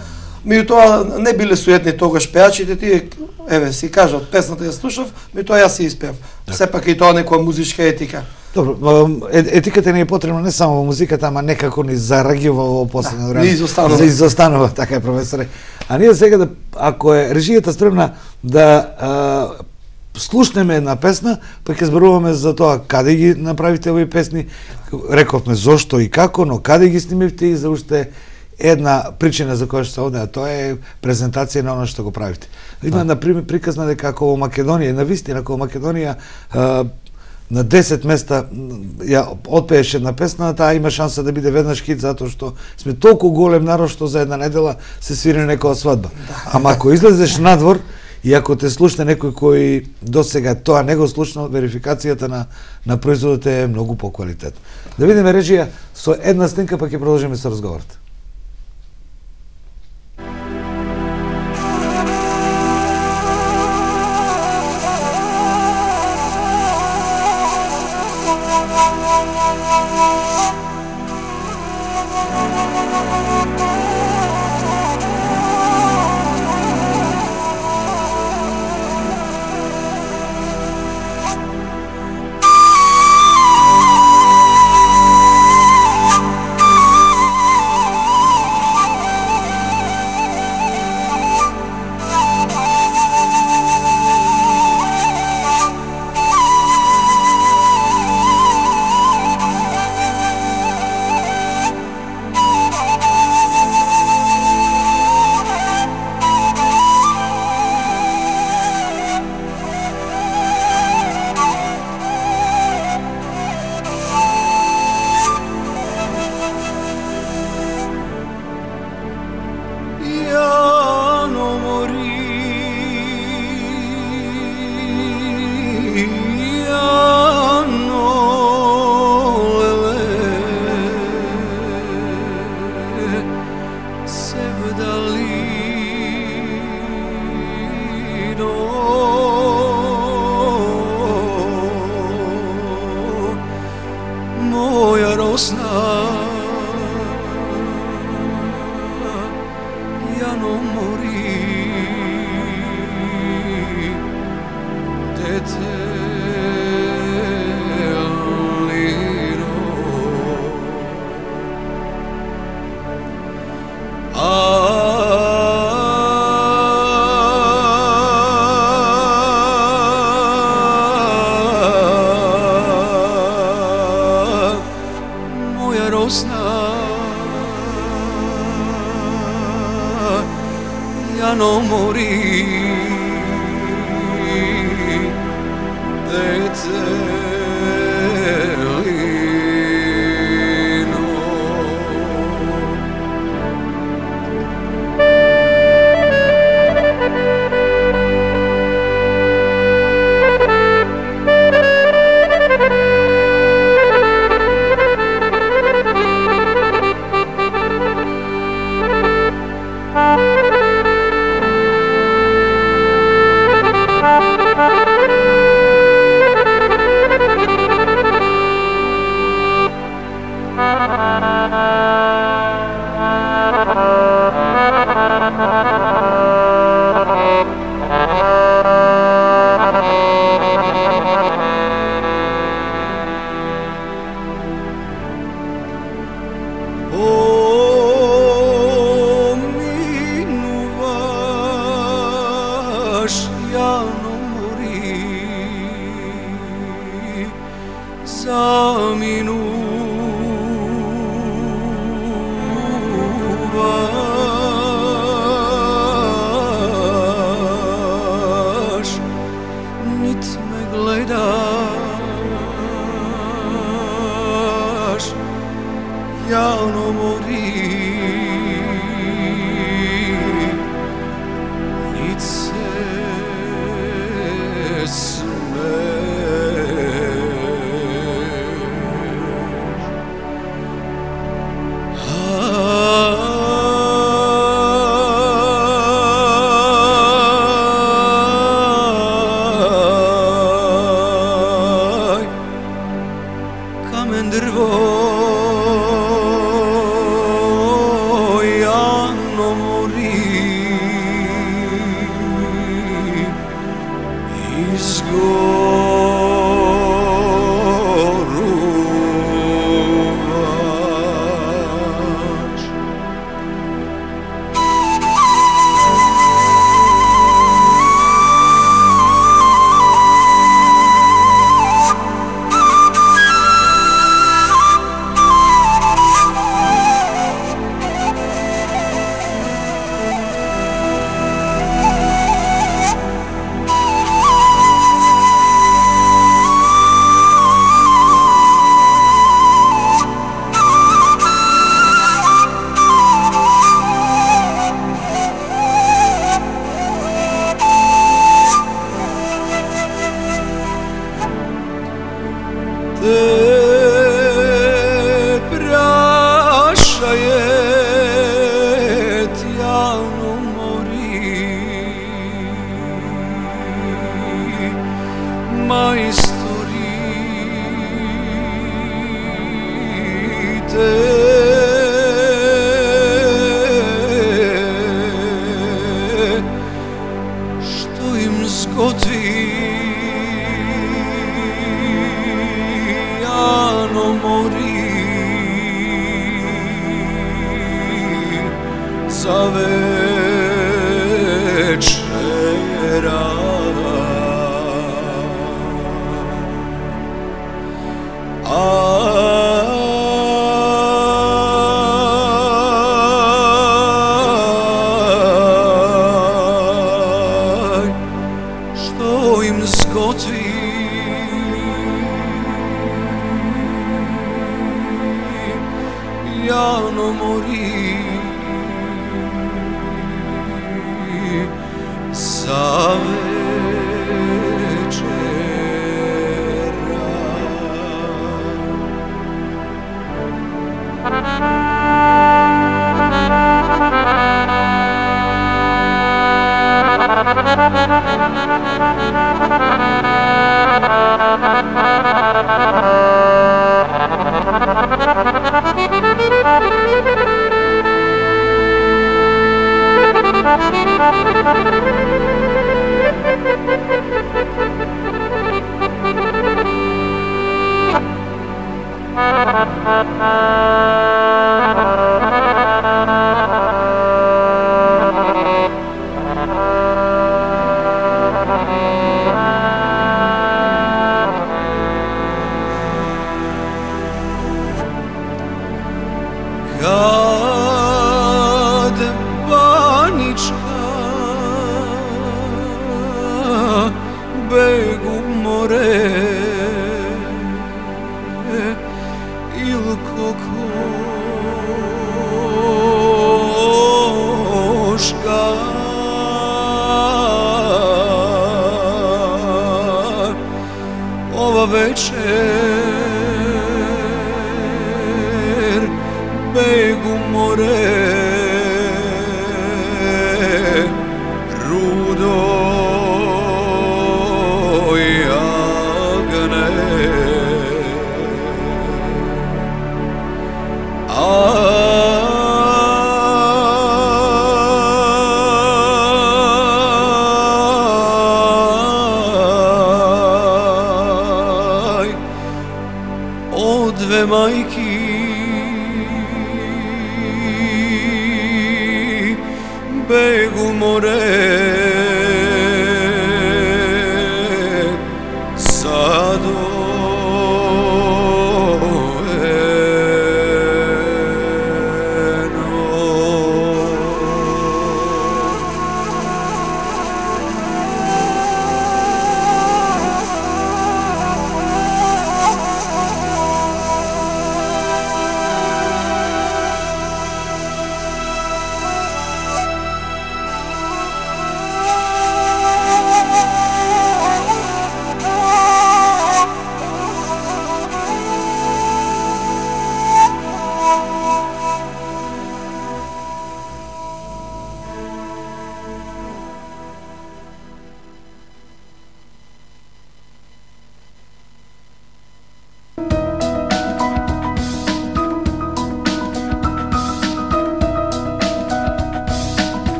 меѓутоа не биле суетни тогаш пеачите, тие, еве, си кажат, песната ја слушав, меѓутоа јас си испеав. Сепак и тоа некоја музичка етика. Добро, етиката не е потребна не само во музиката, ама некако ни зарагива во последно време. Ни изостанува. За изостанува, така е, професоре. А ние сега, да, ако е режијата спремна да а, слушнеме една песна, па ќе зборуваме за тоа каде ги направите овие песни, рековме зошто и како, но каде ги снимивте и за уште една причина за која што се овде, а тоа е презентација на оно што го правите. Има, например, приказна дека ако во Македонија, на вистина, ако во Македонија а, на десет места ја отпееш една песна, таа има шанса да биде веднаш хит, затоа што сме толку голем народ што за една недела се свири некоја свадба. Ама ако излезеш надвор и ако те слушне некој кој досега тоа не го слушнал, верификацијата на на производот е многу поквалитетна. Да видиме режија со една снимка, па ќе продолжиме со разговорот.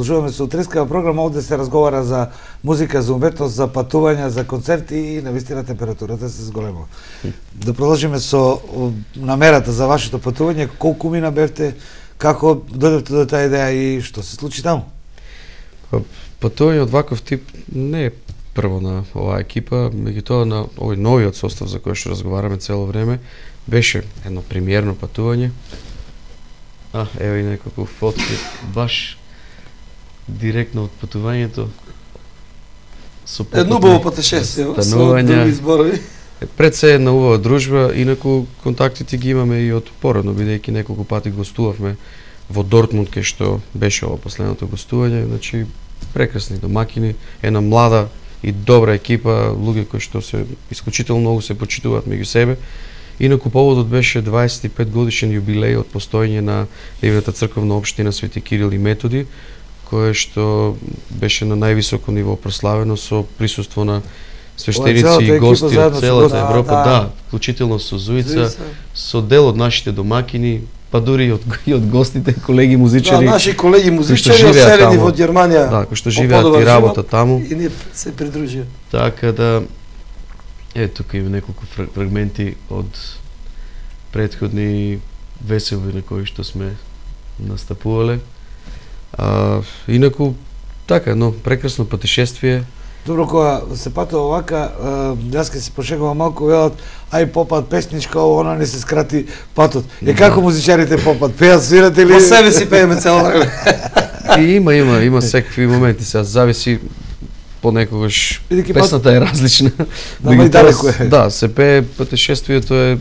Продолжуваме со утринскава програма, овде се разговара за музика, за уметност, за патувања, за концерти и навистина температурата се зголемува. Да продолжиме со намерата за вашето патување, колку мина бевте, како дојдовте до таа идеја и што се случи таму? Патување од ваков тип не е прво на оваа екипа, меѓутоа на овој новиот состав за кој што разговараме цело време, беше едно премиерно патување. А, ево и неколку фотки, баш директно од патувањето. Едно убаво патешествие, со други зборови. Пред се една убава дружба, инаку контактите ги имаме и од породно, бидејќи неколку пати гостувавме во Дортмунд, кај што беше ова последното гостување, значи прекрасни домакини, една млада и добра екипа, луѓе кои што се исклучително многу се почитуваат меѓу себе. Инаку поводот беше дваесет и пет годишен јубилеј од постоење на Нивната црковна општина Свети Кирил и Методи, кое што беше на највисоко ниво прославено со присуство на свештеници и гости од целата Европа, да, да, вклучително со Зуица, со дел од нашите домакини, па дури и од, и од гостите, колеги музичари. Да, наши колеги музичари оселени во Германија. Да, кои што живеат и работат таму. И ние се придружија. Така да, е, тука има неколку фрагменти од претходни веселби на кои што сме настапувале. А, инаку, така, едно прекрасно патешествие. Добро, кога се патува овака, јас ке се пошегувам малку, велат, ај попат песничка, она не се скрати патот. Е, како музичарите попат, пеат, свират или... По себе си пееме цело време. И има, има, има секакви моменти, сега зависи понекогаш песната е различна. Да, ма и далеко е. Да, се пее, патешествието е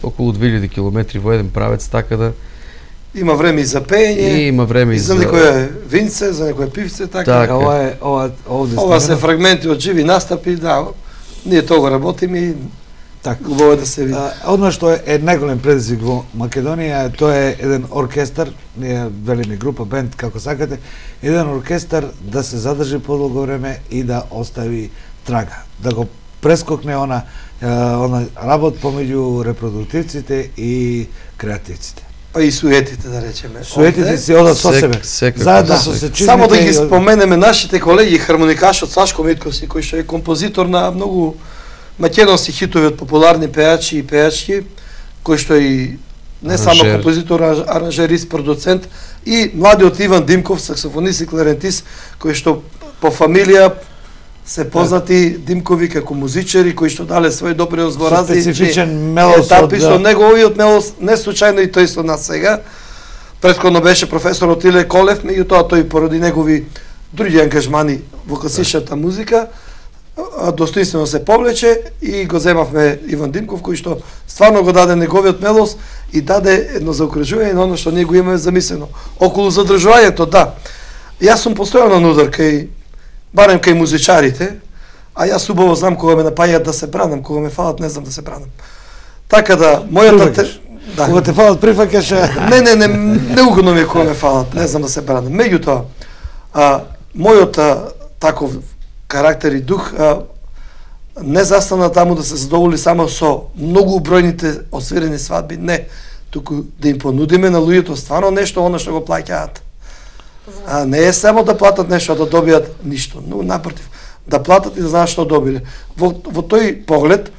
околу две илјади километри во еден правец, така да... Има време и за пење. И има време и за... за некоја винце, за некоја пивце, така. Така. Ова е, ова, овде ова се фрагменти од живи настапи, да. Ние тоа работиме и така убаво да се види. Одно што е, е најголем предизвик во Македонија, тоа е еден оркестар, ние велиме група, бенд, како сакате, еден оркестар да се задржи подолго време и да остави трага, да го прескокне она, она работ помеѓу репродуктивците и креативците. Па и суетите, да речеме. Суетите си одат со себе. Заедно со сечизмите. Само да ги споменеме нашите колеги, хармоникашот Сашко Митковски, кој што е композитор на многу македонски хитови од популарни пејачи и пејачки, кој што е и не само композитор, аранжерист, продуцент, и младиот Иван Димков, саксофонист и кларентист, кој што по фамилија се познати Димкови како музичари кои што дале свој допринос во различни специфичен мелос етапи со неговиот мелос, не случајно и тој со нас сега. Претходно беше професор Отиле Колев, меѓутоа тој поради негови други ангажмани во класичната музика достоинствено се повлече и го земавме Иван Димков, кој што стварно го даде неговиот мелос и даде едно заокружување на оно што ние го имаме замислено. Околу задржувањето, да. Јас сум постојано на удар кај барем кај музичарите, а јас убаво знам кога ме напаѓаат да се бранам, кога ме фалат не знам да се бранам. Така да, мојата те... Да. Кога те фалат прифаќаш... Не, не, не, неугодно ми е кога ме фалат, не знам да се бранам. Меѓутоа, а, мојот а, таков карактер и дух а, не застана таму да се задоволи само со многу бројните освирени свадби, не, туку да им понудиме на луѓето стварно нешто, оно што го плаќаат. А не е само да платат нешто, да добијат ништо, но напротив, да платат и да знаат што добиле. Во, во тој поглед,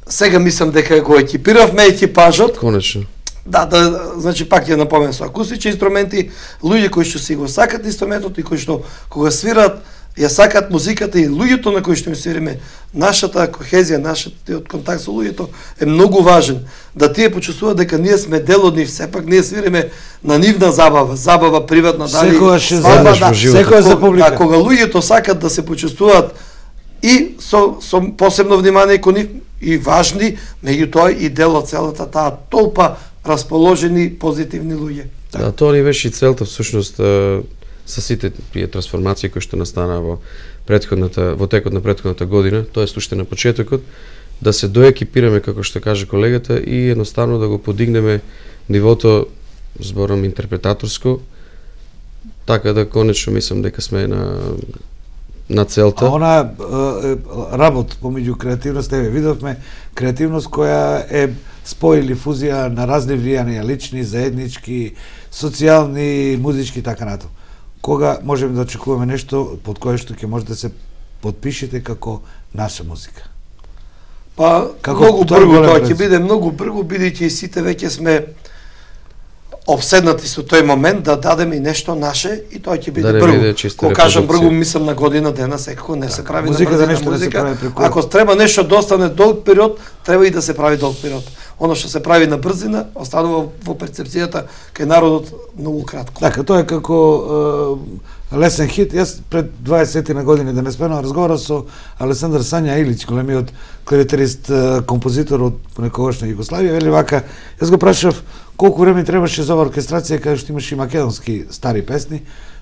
сега мислам дека го екипиравме екипажот. Конечно. Да, да, значи пак ја напоменам со акустични инструменти, луѓе кои што си го сакат инструментот и кои што кога свират ја сакат музиката и луѓето на кои што им свириме, нашата кохезија, нашиот контакт со луѓето е многу важен. Да тие почувствуваат дека ние сме дел од нив, сепак ние свириме на нивна забава, забава приватна, дали секогаш свадба, да, секогаш за публика. Да, кога луѓето сакат да се почувствуваат и со, со посебно внимание кон нив и важни, меѓутоа и дел од целата таа толпа расположени позитивни луѓе. Да, тоа ни беше и целта всушност со сите тие трансформации кои што настана во претходната во текот на претходната година, тоест уште на почетокот, да се доекипираме како што каже колегата и едноставно да го подигнеме нивото, зборам интерпретаторско, така да конечно мислам дека сме на на целта. А она е, работ помеѓу креативност, еве видовме креативност која е спој или фузија на разни влијанија, лични, заеднички, социјални, музички и така натаму. кога можеме да очекуваме нешто под кое што ќе може да се подпишете како наша музика? Па, Како многу тоа брзо, голем тоа рецепт? ќе биде многу брзо, бидејќи сите веќе сме обседнати со тој момент да дадеме и нешто наше и тоа ќе биде Да не брзо. биде чиста Кога кажам репродукција. брзо, мислам на година дена, секако не се прави Музика на за брзина нешто не се музика. прави преку- Ако треба нешто да остане долг период, треба и да се прави долг период. Оно што се прави на брзина, останува во перцепцијата кај народот многу кратко. Така, тоа е како е, лесен хит. Јас пред дваесет на години, да не спомнам, разговарав со Алесандар Сања Илич, големиот клавиатерист, е, композитор од некогашна Југославија, вели вака, јас го прашав колку време требаше за оваа оркестрација, каде што имаше и македонски стари песни,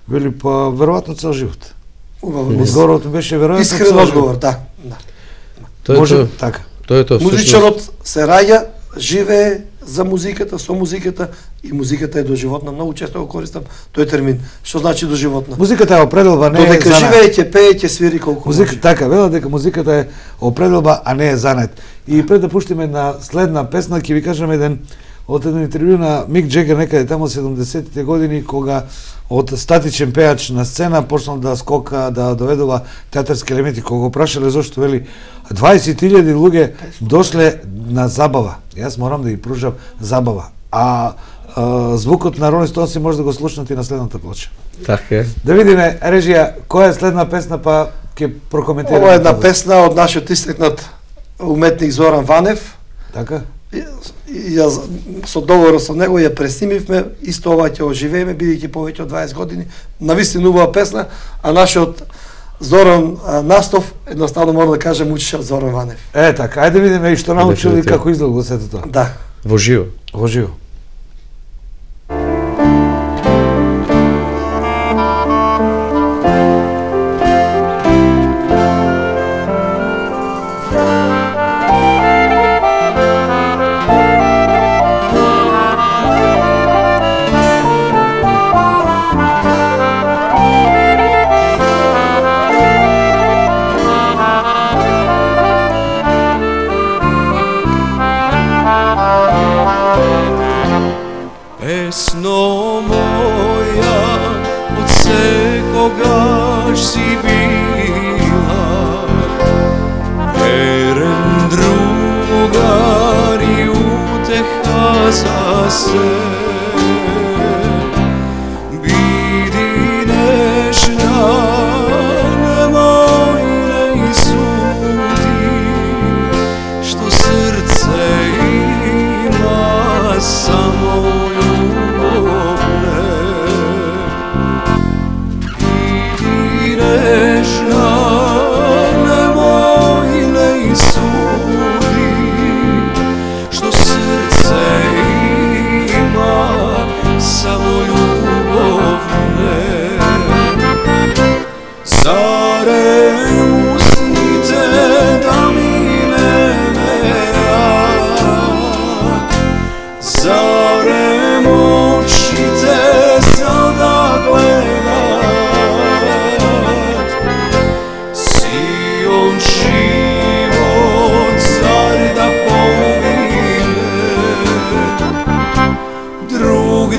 вели па веројатно цел живот. Убаво. Одговорот ми беше веројатно Искрен цел одговор, живот. да. да. Тоа е Може тоа. така. Тоа е тоа. Музичарот се раѓа, живее за музиката, со музиката и музиката е доживотна. Многу често го користам тој термин. Што значи доживотна? Музиката е определба, не е Додека занат. живее, ќе пее, ќе свири колку Музика, може. така, велат дека музиката е определба, а не е занет. И пред да пуштиме на следна песна, ќе ви кажам еден од едно интервју на Мик Джегер некаде тамо седумдесетите години, кога од статичен пеач на сцена почнал да скока, да доведува театарски елементи, кога го прашале зошто, вели дваесет илјади луѓе дошле на забава. Јас морам да ги пружам забава. А, а звукот на Rolling Stones може да го слушнете и на следната плоча. Така е. Да видиме, режија, која е следна песна, па ќе прокоментираме. Ова е една тоа. песна од нашиот истекнат уметник Зоран Ванев. Така? И јас со договор со него ја преснимивме, исто ова ќе оживееме, бидејќи повеќе од дваесет години, навистина убава песна, а нашиот Зоран а, Настов, едноставно мора да кажем, учеше од Зоран Ванев. Е, така, ајде видиме и што научил и Дефинитивно. како изгледа сето тоа. Да. Во живо. Во живо. Песно моја, од секогаш си била верен другар и утеха за се. Биди нежна, немој не суди, што срце има само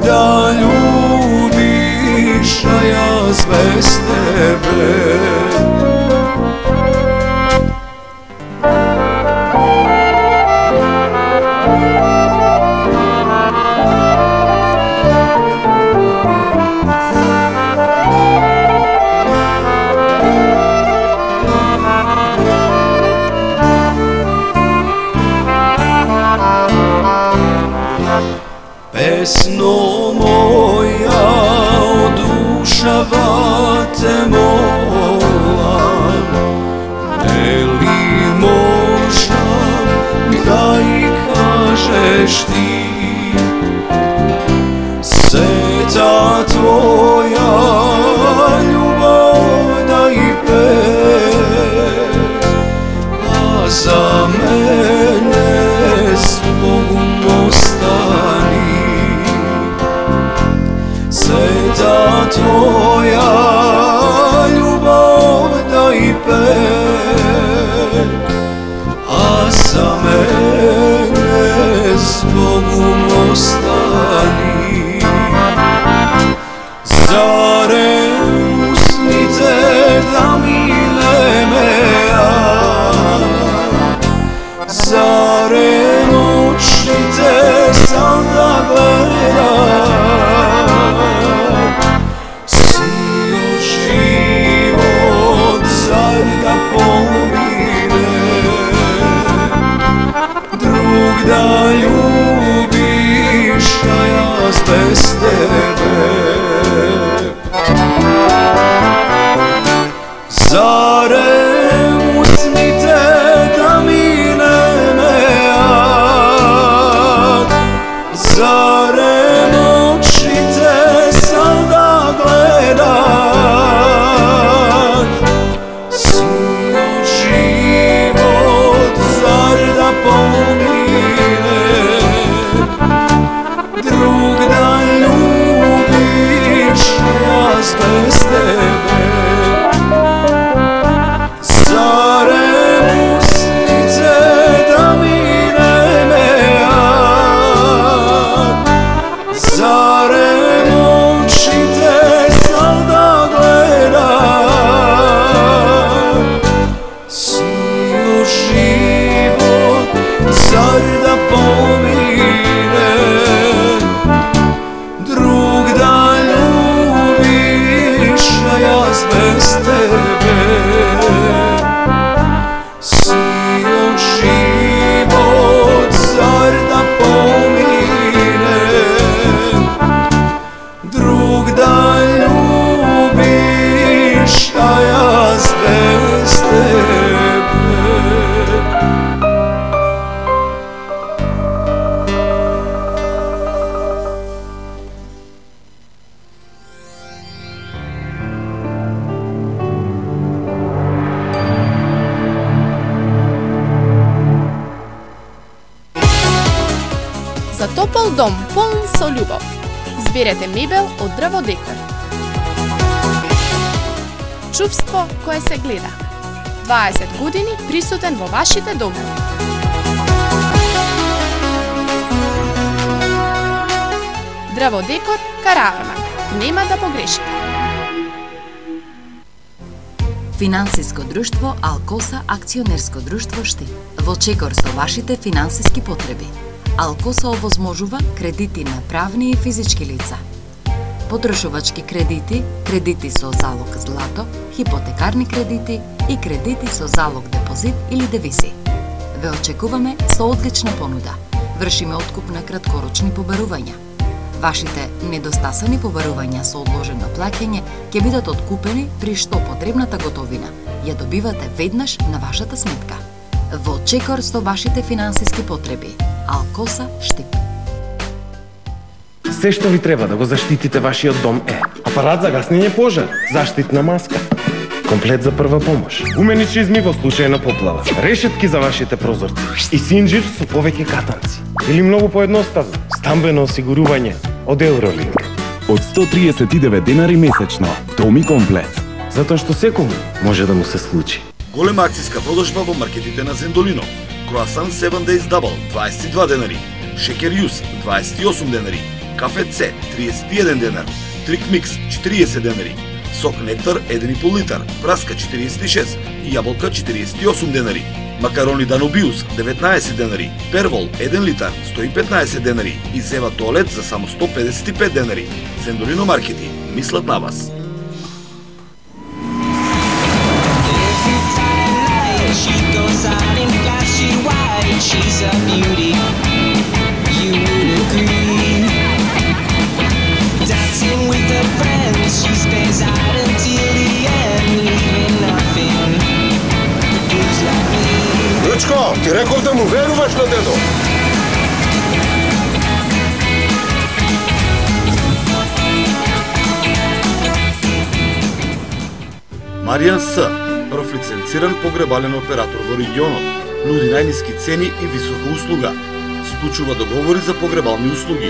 da ljubiš, a jaz bez tebe. Pesno moja, odušava te molam, ne li možda da i kažeš ti, seta tvoja ljubav da i pe, a za mene s Bogom ostani. Sveta tvoja ljubav da i pe, a za mene zbog Зарем усните да ми не меат, зарем очите сам да гледат, сиот живот зар да помине, друг да любиш, јас без тебе. Зарем усните да ми не меат, зарем очите сам да гледат, сиот живот зар да помине, друг да любиш, а јас без тебе. Сиот живот зар да помине, друг да любиш, а јас без тебе. За топол дом полн со љубов. Изберете мебел од Дрво Декор. Чувство кое се гледа. дваесет години присутен во вашите домови. Дрво Декор Караарман. Нема да погрешите. Финансиско друштво Алкоса акционерско друштво Штип. Во чекор со вашите финансиски потреби. Алкоса овозможува кредити на правни и физички лица, потрошувачки кредити, кредити со залог злато, хипотекарни кредити и кредити со залог депозит или девизи. Ве очекуваме со одлична понуда. Вршиме откуп на краткорочни побарувања. Вашите недостасани побарувања со одложено плаќање ќе бидат откупени при што потребната готовина ја добивате веднаш на вашата сметка. Во чекор со вашите финансиски потреби. Алкоса Штип. Се што ви треба да го заштитите вашиот дом е апарат за гаснење пожар, заштитна маска, комплет за прва помош, уменичизми во случај на поплава, решетки за вашите прозорци и синџир со повеќе катанци. Или многу поедноставно, стамбено осигурување од Евролинк. Од сто триесет и девет денари месечно, доми комплет. Затоа што секому може да му се случи. Голема акцијска продажба во маркетите на Зендолино. Круасан седум Days Double дваесет и два денари, Шекер Јус дваесет и осум денари, Кафе С триесет и еден денар, Трик Микс четириесет денари, Сок Нектар еден и пол литар, Праска четириесет и шест и јаболка четириесет и осум денари. Макарони Данобиус деветнаесет денари, Первол еден литар сто и петнаесет денари и Зева Туалет за само сто педесет и пет денари. Зендолино маркети мислат на вас. She's a beauty, you would agree. Dancing with her friends, she stays out until the end, leaving nothing. Fools like me. Лучко, ти реков да му веруваш на дедо. Маријан С, прв лиценциран погребален оператор во регионот, нуди најниски цени и висока услуга. Склучува договори за погребални услуги.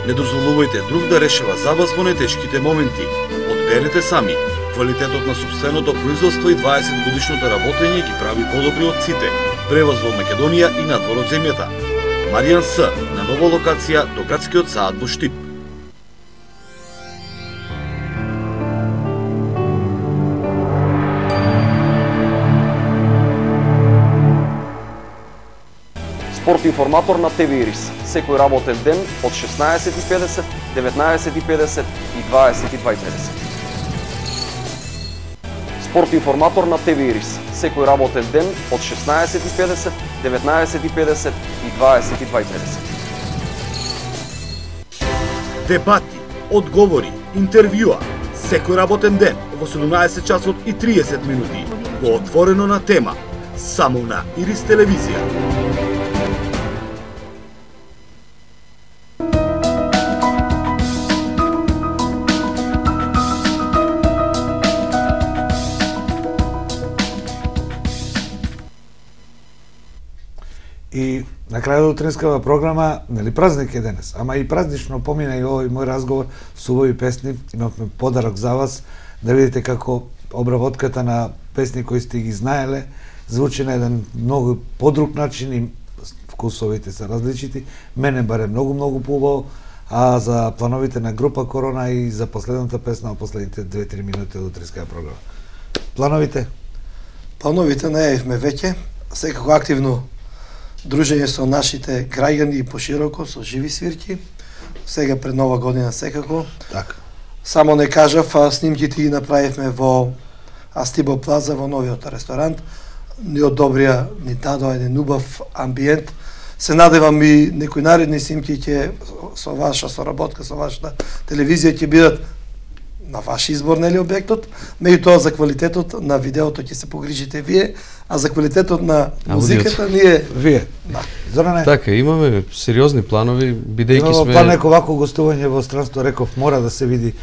Не дозволувајте друг да решава за вас во нетешките моменти. Одберете сами. Квалитетот на собственото производство и дваесет годишното работење ги прави подобри од сите. Превоз во Македонија и надвор од земјата. Маријан С, на нова локација до градскиот саат во Штип. Спорт информатор на ТВ Ирис. Секој работен ден од шеснаесет и педесет, деветнаесет и педесет и дваесет и два и педесет. Спорт информатор на ТВ Ирис. Секој работен ден од шеснаесет и педесет, деветнаесет и педесет и дваесет и два и педесет. Дебати, одговори, интервјуа. Секој работен ден во седумнаесет часот и триесет минути во Отворено на тема, само на Ирис телевизија. И на крајот од утринскава програма, нели празник е денес, ама и празнично помина и овој мој разговор со убави песни. Имавме подарок за вас, да видите како обработката на песни кои сте ги знаеле звучи на еден многу подруг начин и вкусовите се различити. Мене баре многу, многу поубаво, а за плановите на група Корона и за последната песна од последните две-три минути од утринскава програма. Плановите? Плановите најавивме веќе, секако активно дружење со нашите граѓани и пошироко, со живи свирки, сега пред нова година секако. Така. Само не кажав, а снимките ги направивме во Астибо Плаза, во новиот ресторант. Ни одобрија, ни дадоа еден убав амбиент. Се надевам и некои наредни снимки ќе со ваша соработка, со вашата телевизија ќе бидат на ваш избор, нели, објектот, меѓутоа за квалитетот на видеото ќе се погрижите вие, а за квалитетот на музиката ние вие. Да. Зоране? Така, имаме сериозни планови, бидејќи сме... сме... Па неко вако гостување во странство, реков, мора да се види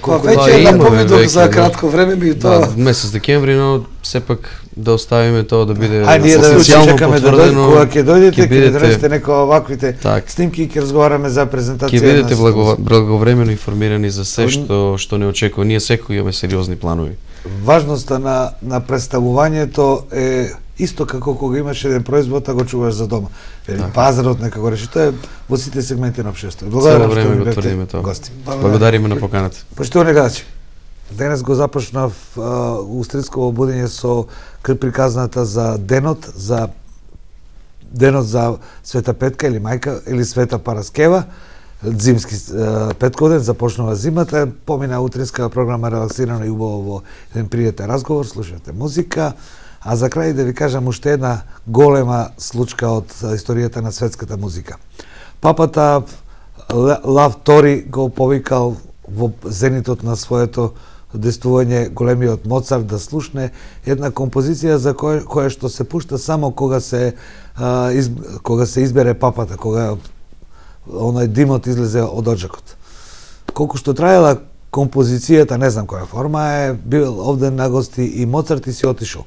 колку е. Веќе наповедов за кратко време, меѓутоа... Да, месец декември, но сепак да оставиме тоа да биде а ние да чекаме да дојде, кога ќе дојдете, ќе бидете... донесете некои оваквите так. снимки и ќе разговараме за презентација. Ќе бидете благо... благовремено информирани за се што што не очекува. Ние секој имаме сериозни планови. Важноста на на представувањето е исто како кога имаш еден производ, а го чуваш за дома. Так. Пазарот некако реши, тоа е во сите сегменти на општеството. Благодарам што ми бевте гости. Благодариме на поканата. Поштовани гледачи, денес го започнав устринско обудење со приказната за денот, за денот за Света Петка или мајка или Света Параскева. Зимски петков ден, започнува зимата, помина утринска програма релаксирано и убаво во еден пријатен разговор, слушате музика, а за крај да ви кажам уште една голема случка од историјата на светската музика. Папата Лав Тори го повикал во зенитот на своето действување големиот Моцарт да слушне една композиција за која, која што се пушта само кога се а, из, кога се избере папата, кога оној димот излезе од оджакот. Колку што траела композицијата, не знам која форма е, бил овде на гости и Моцарт и си отишол.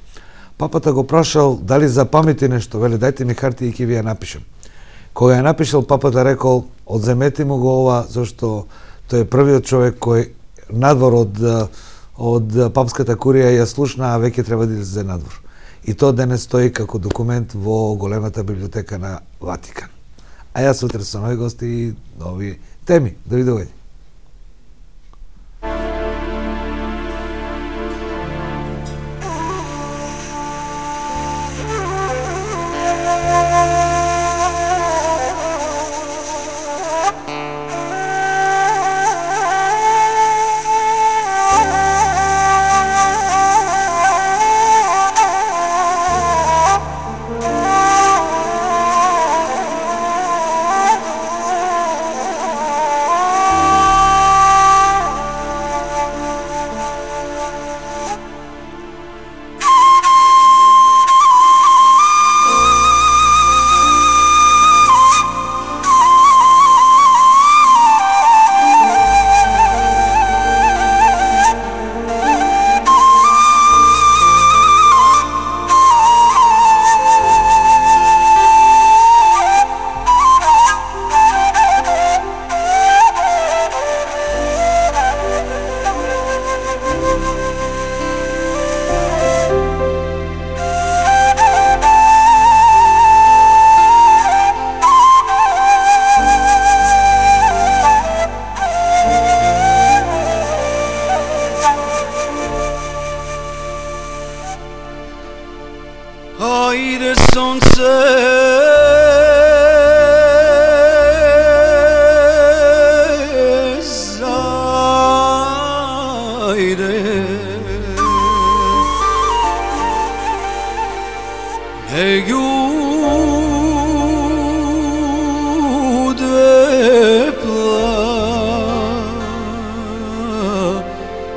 Папата го прашал дали запамити нешто, веле дајте ми хартија и ќе ви ја напишем. Кога ја напишал, папата рекол, одземете му го ова, зашто тој е првиот човек кој надвор од од папската курија ја слушна, а веќе треба да излезе надвор. И тоа денес стои како документ во големата библиотека на Ватикан. А јас утре со нови гости и нови теми. Довидување.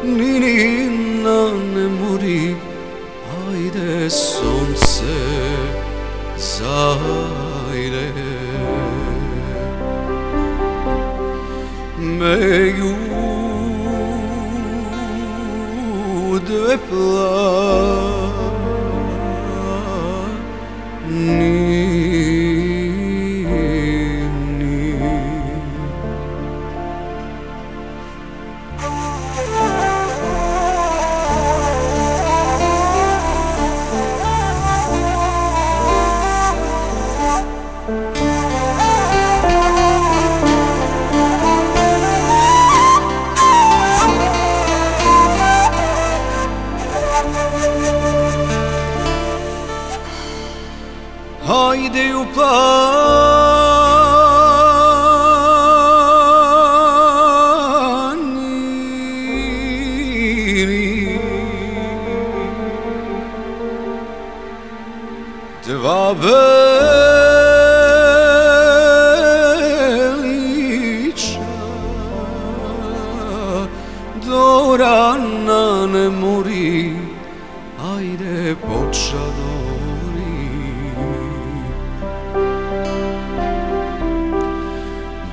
Nini Ajde sunce, zajde me ljude plani. Hajde u planini dva beliča do rana ne mori, ajde počado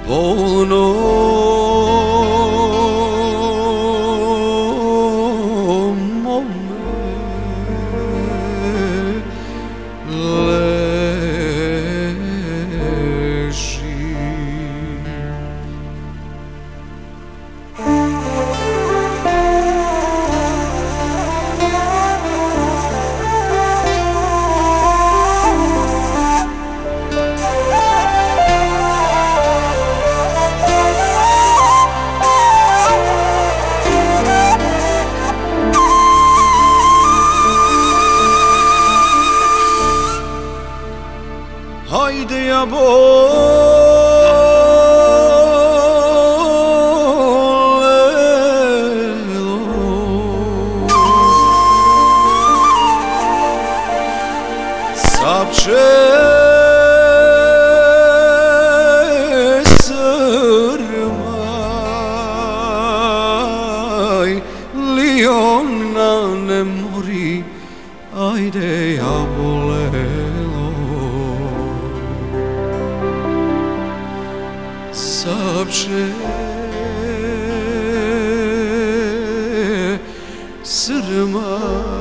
bolno mome leži. Hajde ja bolelo sapče srmaj li ona ne mori, ajde ja bolelo sapče srmaj.